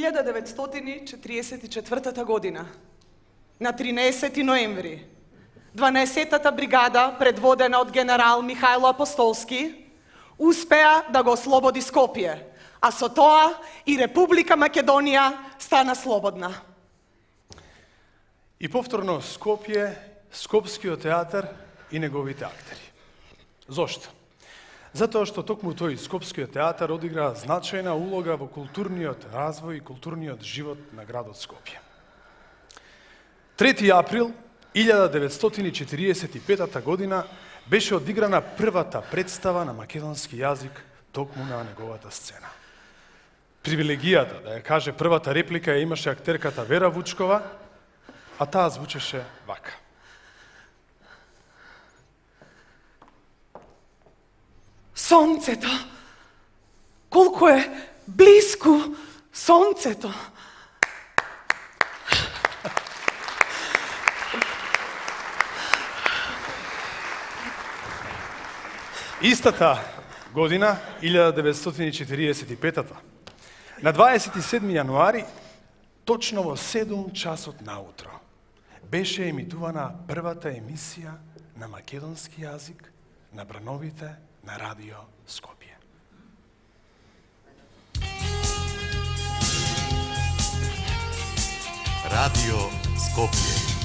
илјада деветстотини четириесет и четвртата година, на тринаесети ноември, дванаесеттата бригада, предводена од генерал Михајло Апостолски, успеа да го ослободи Скопје, а со тоа и Република Македонија стана слободна. И повторно Скопје, Скопскиот театар и неговите актери. Зошто? Затоа што токму тој Скопскиот театар одигра значајна улога во културниот развој и културниот живот на градот Скопје. трети април илјада деветстотини четириесет и петата година беше одиграна првата представа на македонски јазик токму на неговата сцена. Привилегијата да ја каже првата реплика ја имаше актерката Вера Вучкова, а таа звучеше вака. Сонцето, колку е близко сонцето. Истата година, илјада деветстотини четириесет и петата, на дваесет и седми јануари, точно во седум часот наутро, беше емитувана првата емисија на македонски јазик на брановите на Радио Скопје. Радио Скопје.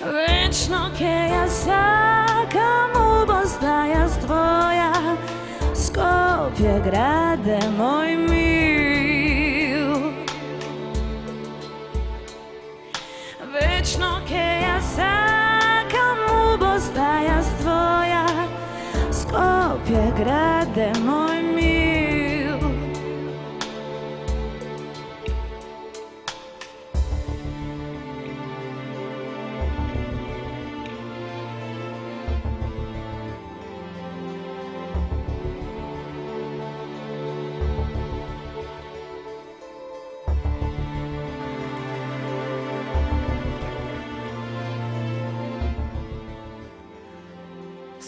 Вечно ке ја сакам убост твоја, Скопје граде мој мил. Вечно ке ја сакам убост твоја, Скопје граде мој мил.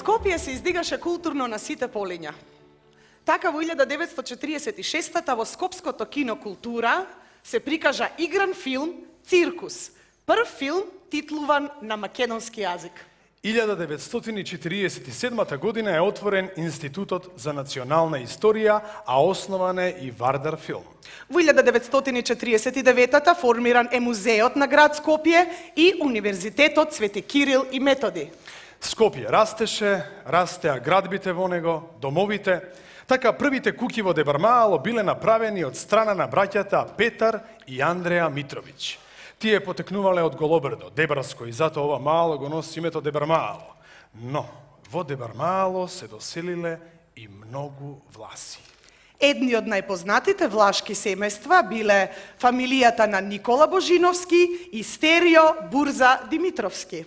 Скопје се издигаше културно на сите полиња. Така во илјада деветстотини четиридесет и шеста во Скопското кино Култура се прикажа игран филм Циркус, прв филм титлуван на македонски јазик. илјада деветстотини четиридесет и седма година е отворен Институтот за национална историја, а основан е и Вардар филм. Во илјада деветстотини четиридесет и девета формиран е Музеот на град Скопје и Универзитетот Свети Кирил и Методи. Скопје растеше, растеа градбите во него, домовите. Така првите куќи во Дебармаало биле направени од страна на браќата Петар и Андреа Митровиќ. Тие потекнувале од Голобрдо, Дебарско, и затоа ова мало го носи името Дебармаало. Но во Дебармаало се доселиле и многу власи. Едни од најпознатите влашки семејства биле фамилијата на Никола Божиновски и Стерио Бурза Димитровски.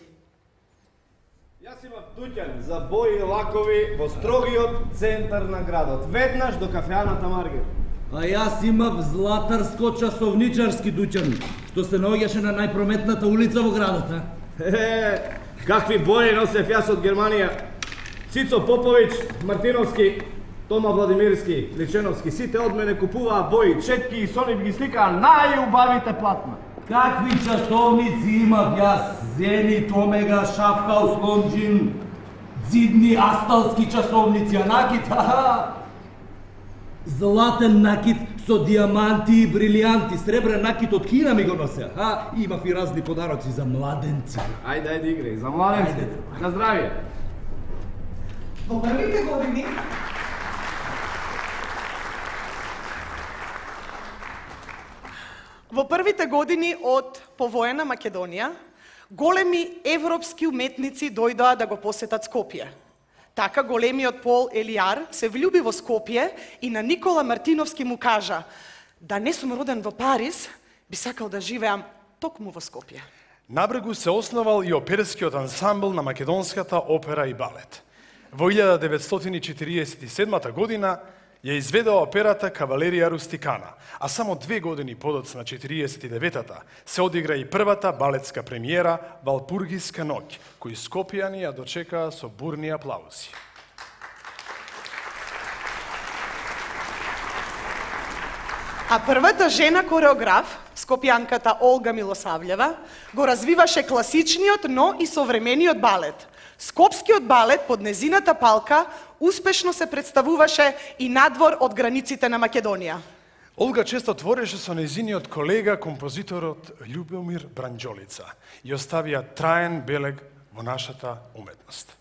Јас имав дуќан за бои и лакови во строгиот центар на градот, веднаш до кафеаната Маргер. А јас имав златарско-часовничарски дуќан, што се наоѓаше на најпрометната улица во градот, а? Е, какви бои носев јас од Германија. Цицо Поповиќ, Мартиновски, Тома Владимирски, Личеновски, сите од мене купуваа бои, четки и со нив ги сликаа најубавите платна. Какви часовници имав јас? Зенит, Омега, Шафхаус, Лонџин, зидни асталски часовници, а накид, ха-ха! Златен накид со диаманти и брилијанти, сребрен накид од Кина ми го носе, ха? Имав и разни подароци за младенци. Ајде, ајде, играј, за младенци. На здравје. Во првите години Во првите години од повоена Македонија, големи европски уметници дојдоа да го посетат Скопје. Така големиот Пол Елијар се влюби во Скопје и на Никола Мартиновски му кажа: да не сум роден во Париз, би сакал да живеам токму во Скопје. На брегу се основал и оперскиот ансамбл на македонската опера и балет. Во илјада деветстотини четиридесет и седма година ја изведува операта Кавалерија Рустикана, а само две години подоцна четиридесет и деветата се одигра и првата балетска премиера Валпургиска ноќ, кој скопјани ја дочекаа со бурни аплаузи. А првата жена кореограф, скопјанката Олга Милосављева, го развиваше класичниот, но и современиот балет. Скопскиот балет под незината палка успешно се представуваше и надвор од границите на Македонија. Олга често твореше со незиниот колега, композиторот Љубомир Бранџолица и оставија траен белег во нашата уметност.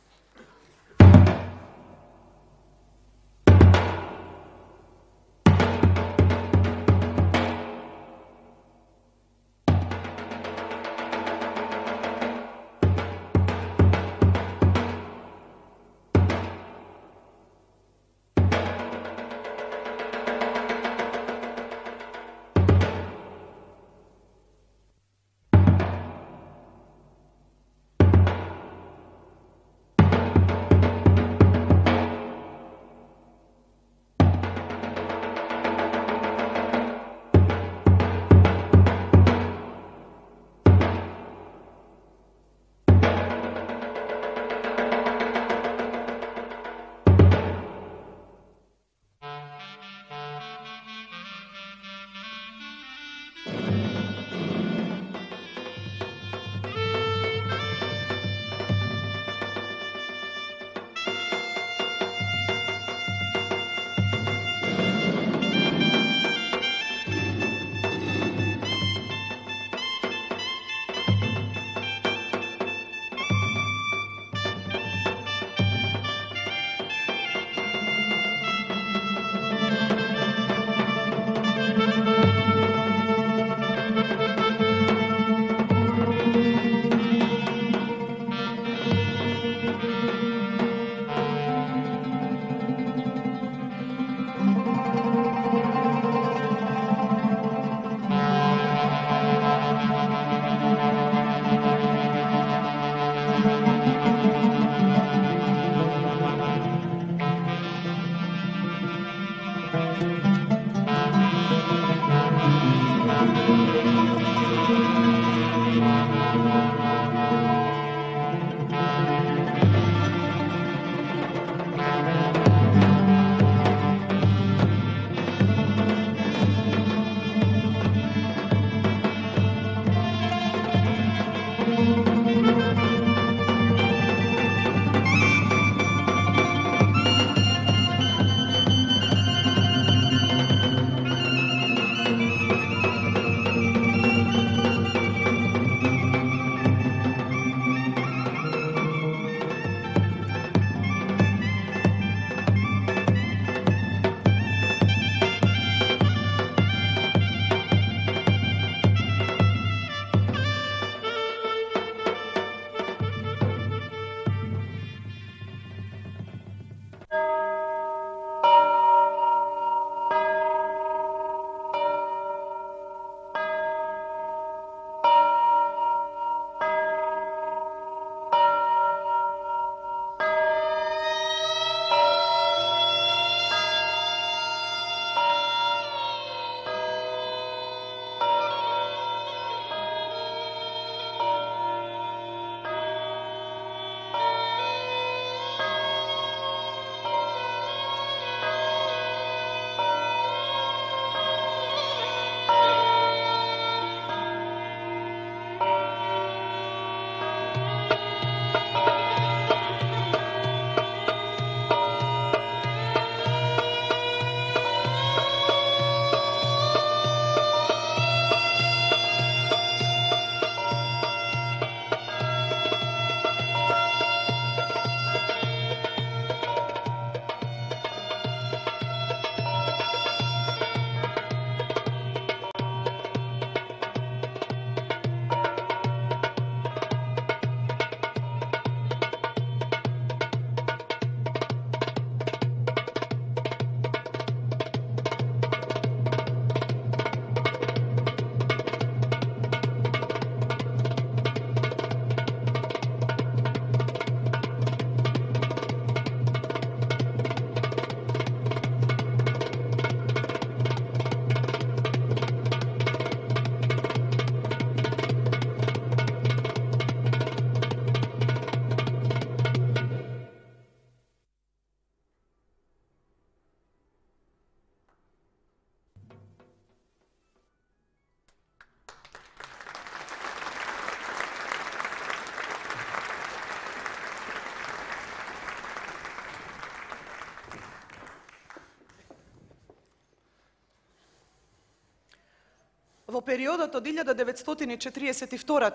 Во периодот од илјада деветстотини четириесет и втора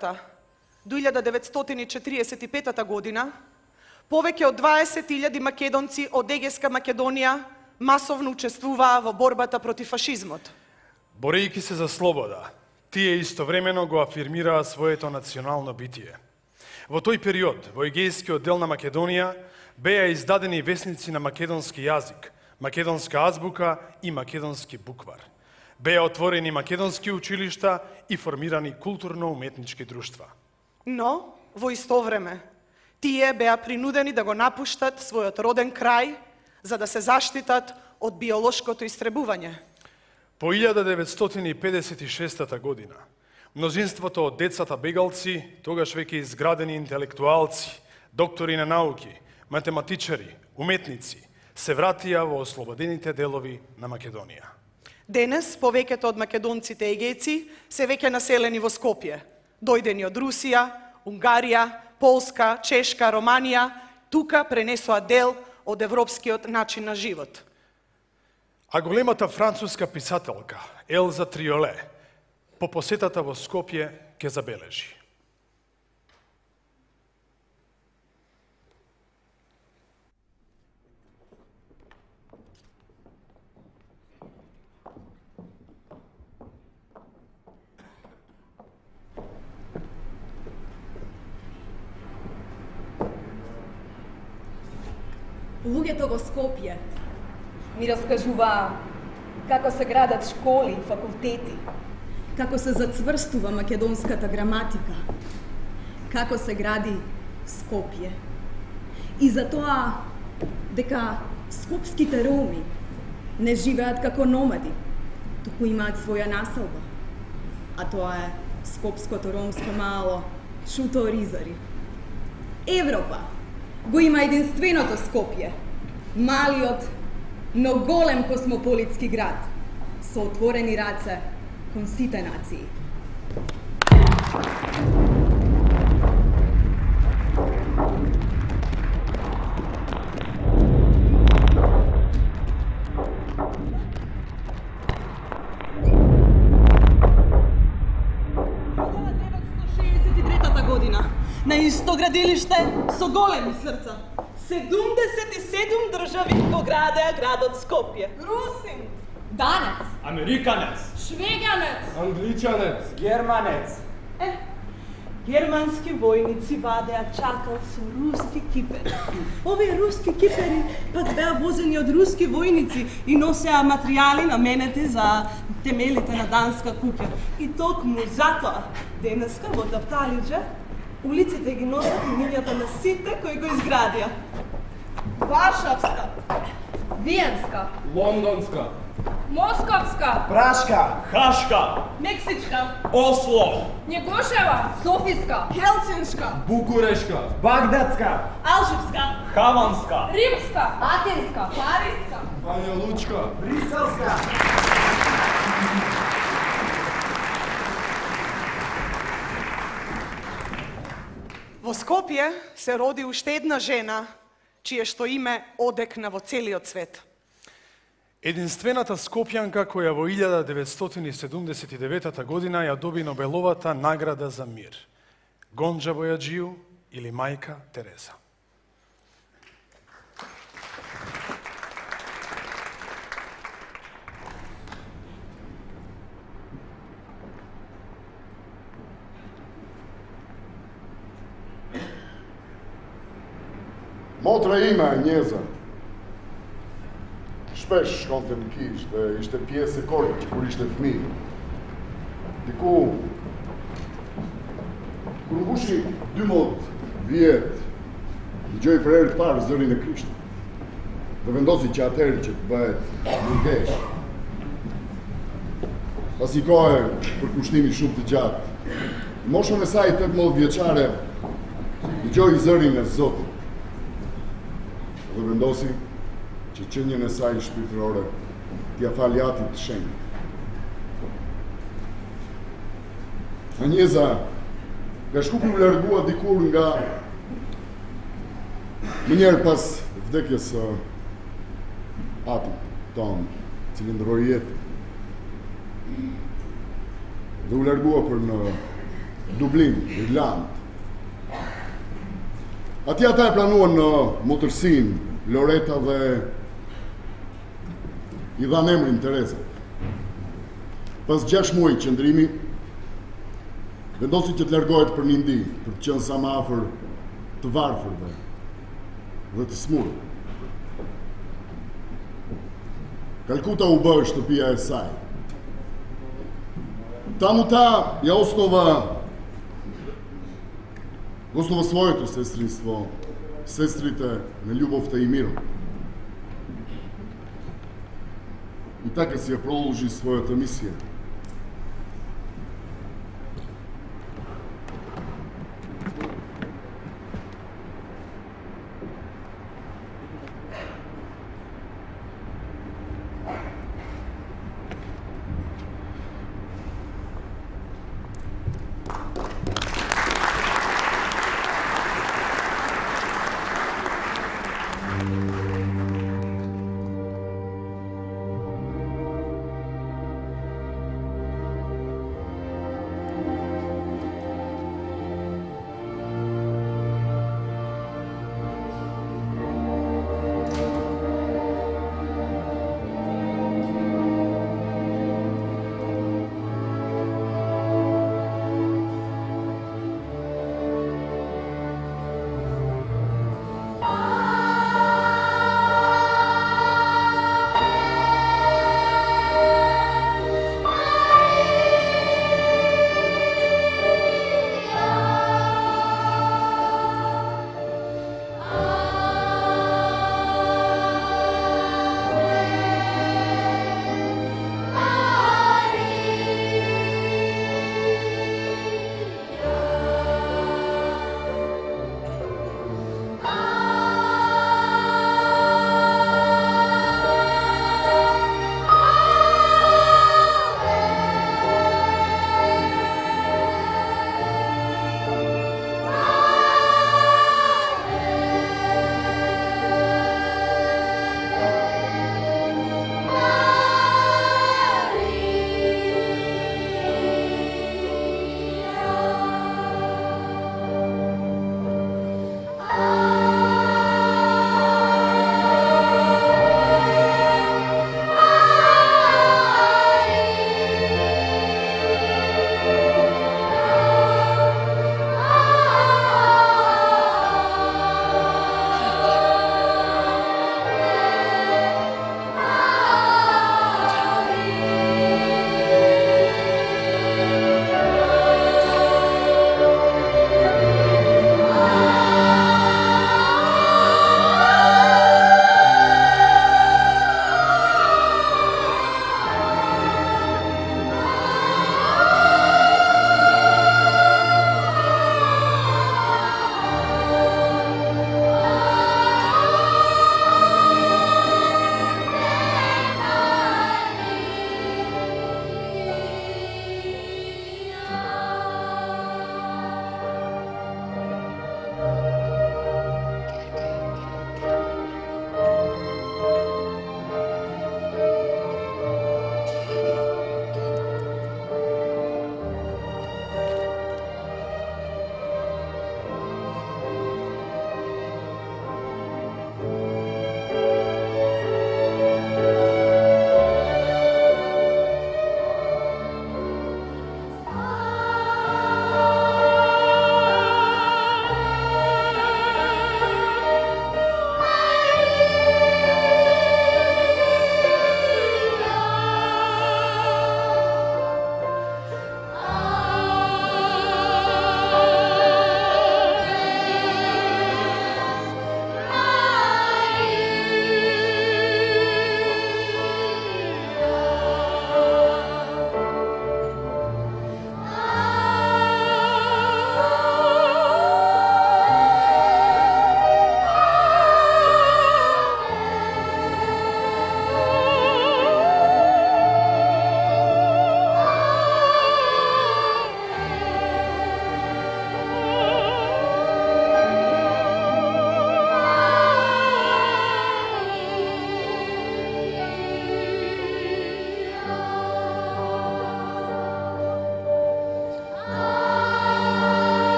до илјада деветстотини четириесет и пета година, повеќе од дваесет илјади македонци од Егејска Македонија масовно учествуваа во борбата против фашизмот. Борејќи се за слобода, тие истовремено го афирмираа своето национално битие. Во тој период, во Егејскиот дел на Македонија, беа издадени весници на македонски јазик, македонска азбука и македонски буквар. Беа отворени македонски училишта и формирани културно-уметнички друштва. Но, во исто време, тие беа принудени да го напуштат својот роден крај, за да се заштитат од биолошкото истребување. По илјада деветстотини педесет и шеста година, мнозинството од децата бегалци, тогаш веќе изградени интелектуалци, доктори на науки, математичари, уметници, се вратија во ослободените делови на Македонија. Денес, повеќето од македонците егејци се веќе населени во Скопје, дојдени од Русија, Унгарија, Полска, Чешка, Романија, тука пренесоа дел од европскиот начин на живот. А големата француска писателка Елза Триоле по посетата во Скопје ќе забележи. Луѓето во Скопје ми раскажуваа како се градат школи и факултети, како се зацврстува македонската граматика, како се гради Скопје. И за тоа дека скопските роми не живеат како номади, туку имаат своја населба, а тоа е скопското ромско мало Шуто Ризари. Европа го има единственото Скопје, малиот, но голем космополитски град, со отворени раце кон сите нации. Година, на исто градилиште со големи срца. седумдесет и седум држави го градеа градот Скопје. Русин, данец, Американец, швеѓанец, англичанец, германец. Е, германски војници вадеа чакал со руски кипери. Овие руски кипери пак беа возени од руски војници и носеа материјали наменети за темелите на данска куќа. И токму затоа денеска во Тапталиџа улиците ги носат имињата на сите кои го изградија. Варшавска, Виенска, Лондонска, Московска, Прашка, Хашка, Мексичка, Осло, Негошева, Софиска, Хелсиншка, Букурешка, Багдадска, Алжирска, Хаванска, Римска, Атинска, Париска, Бања Лучка, Бриселска. Во Скопје се роди уште една жена, чие што име одекна во целиот свет. Единствената скопјанка која во илјада деветстотини седумдесет и девета година ја доби Нобеловата награда за мир. Гонџа Бојаджију или мајка Тереза. Мотра има Ањеза. Шпеш шконте në kish dhe ishte pjesë e korit që kur ishte fëmijë. Diku, kur mbushi dymbëdhjetë vjet, dëgjoi për herë të parë zërin e Krishtit. Dhe vendosi që atëherë që të bëhet burgesh. Pas një kohe për kushtimi shumë të gjatë, në moshën e saj tetëmbëdhjetë vjeçare, dëgjoi zërin e Zotit. Dhe vendosi që qënjën e saj shpirtërore t'ja faljatit të shenjë. Aњeza nga Shkupi u largua dikur nga më njerë pas vdekjes së atit tonë, cili ndroi jetë. dhe u largua për në Dublin, Irland. Atje ata e planuan në motërsin, Loreta dhe i dhanë emrin Tereza. Pas gjashtë muaj qëndrimi, vendosi që të largohet për një ndi, për të qenë sa më afër të varfërve dhe të smurë. Kalkuta u bë shtëpia e saj. Tamo ta ja osnova osnova своето сестринство, сестрите на љубовта и мирот. И така си ја продолжи својата мисија.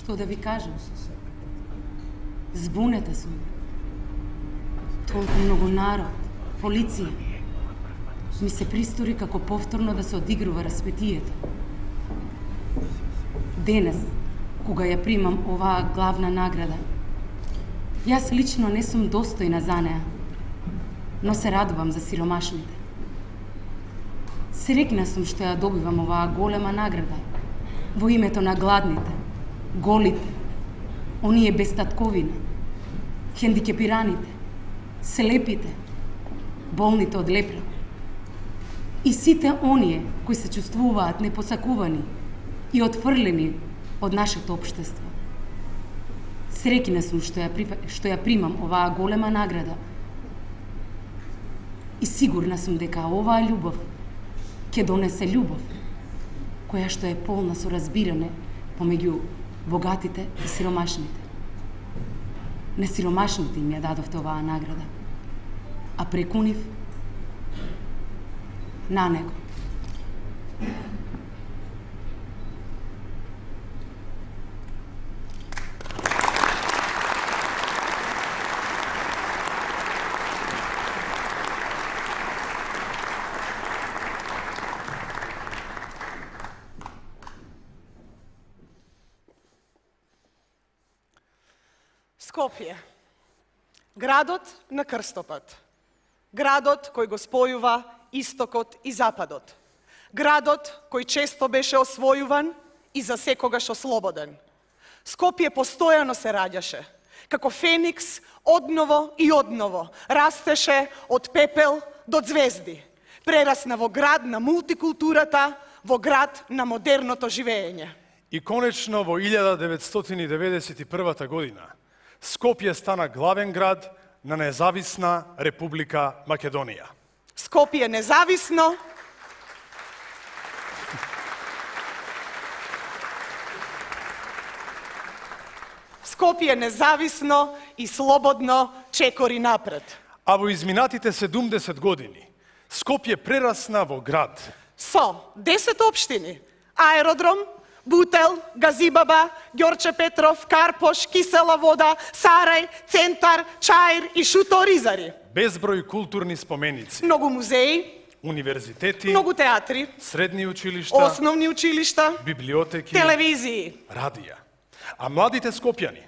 Што да ви кажам? Збунета сум. Толку многу народ, полиција. Ми се пристори како повторно да се одигрува распетието. Денес, кога ја примам оваа главна награда, јас лично не сум достојна за неа, но се радувам за сиромашните. Срекна сум што ја добивам оваа голема награда во името на гладните, голите, оние без татковина, хендикепираните, слепите, болните од лепра и сите оние кои се чувствуваат непосакувани и отфрлени од нашето општество. Среќна сум што ја, што ја примам оваа голема награда и сигурна сум дека оваа љубов ќе донесе љубов, која што е полна со разбиране помеѓу богатите и сиромашните. Не сиромашните им ја дадовте оваа награда, а преку нив на него. Скопје, градот на крстопат, градот кој го спојува истокот и западот, градот кој често беше освојуван и за секогаш ослободен. Скопје постојано се раѓаше, како феникс одново и одново, растеше од пепел до звезди, прерасна во град на мултикултурата, во град на модерното живење. И конечно во илјада деветстотини деветдесет и прва година Скопје стана главен град на независна Република Македонија. Скопје независно, Скопје независно и слободно чекори напред. А во изминатите седумдесет години Скопје прерасна во град со десет општини, аеродром, Бутел, Газибаба, Ѓорче Петров, Карпош, Кисела вода, Сарај, Центар, Чаир и Шуто-Ризари. Безброј културни споменици. Многу музеи, универзитети, многу театри, средни училишта, основни училишта, библиотеки, телевизии, радија. А младите скопјани,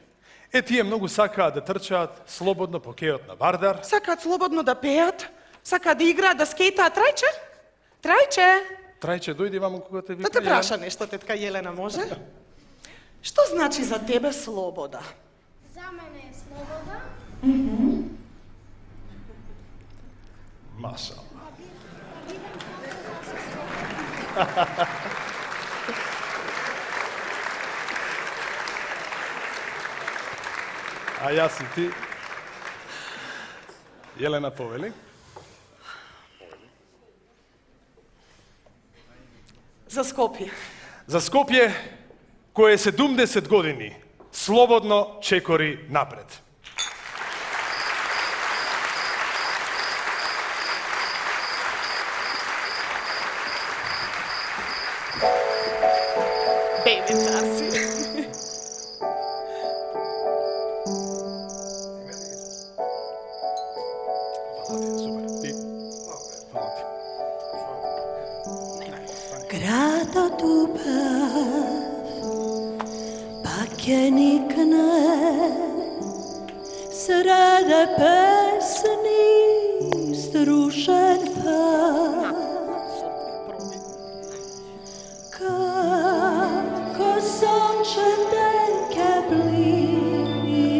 е тие многу сакаат да трчаат слободно по кејот на Вардар. Сакаат слободно да пеат, сакаат да играат, да скейтаат. Трајче? Трајче? Трајче, дојди вамо кога те вика. Да те праша нешто, тетка Јелена, може? Што значи за тебе слобода? За мене е слобода. Mm-hmm. Машала. А јас и ти, Јелена, повели. За Скопје. За Скопје, кое седумдесет години слободно чекори напред. Бебица си. Градот убав, пак ќе никне, среде песни струшен фас. Како сончев ден ќе бликне,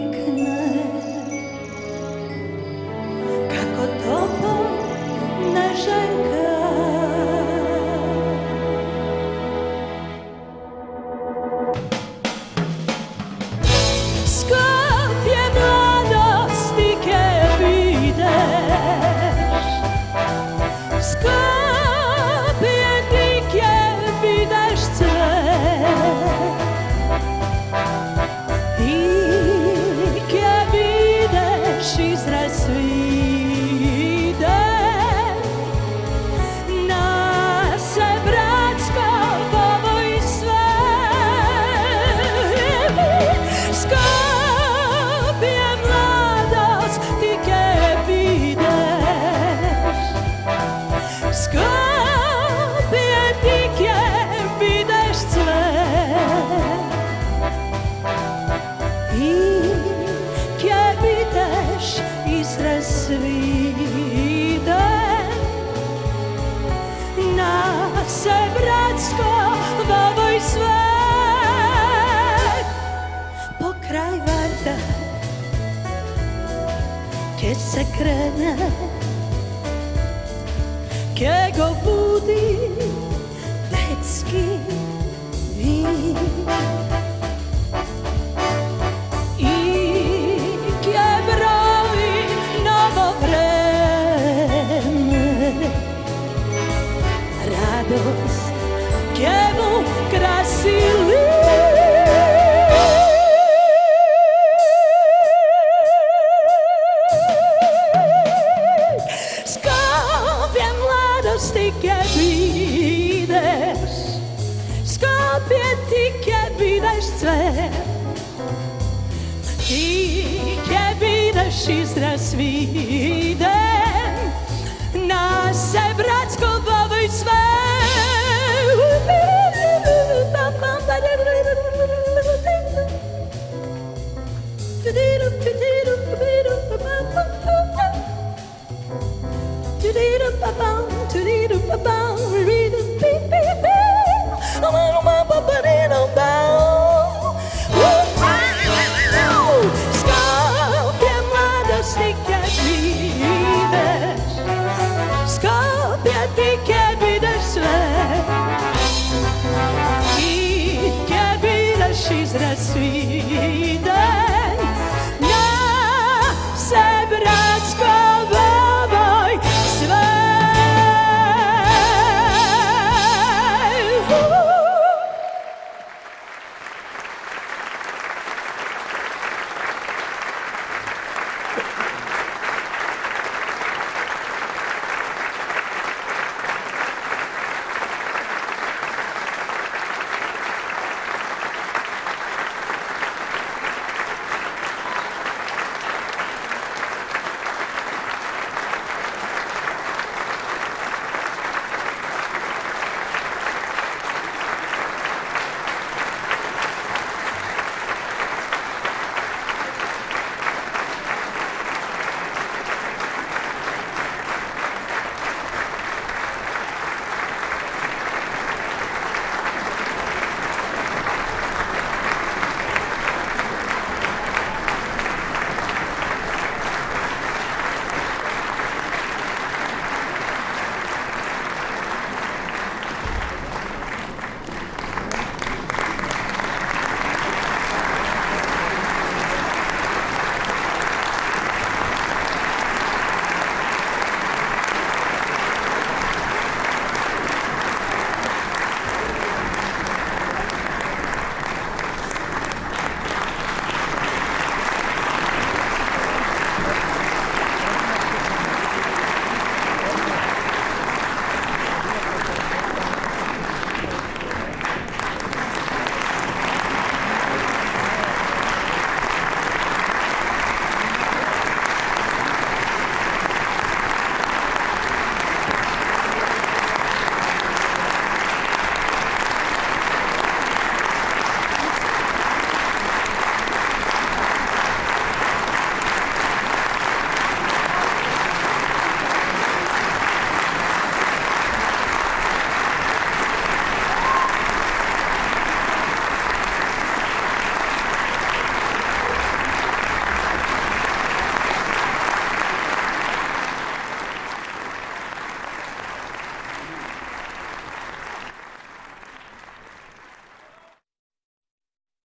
како топол нежен Sve свиде нас е братско во овој свет. Покрај варта ке се крене, ке го буди детски вид. И ке брои ново време, радост ке му краси Скопје младости ке бидеш, Скопје ти ке бидеш цвет, ти ке бидеш израз виден, нас е братско во овој свет.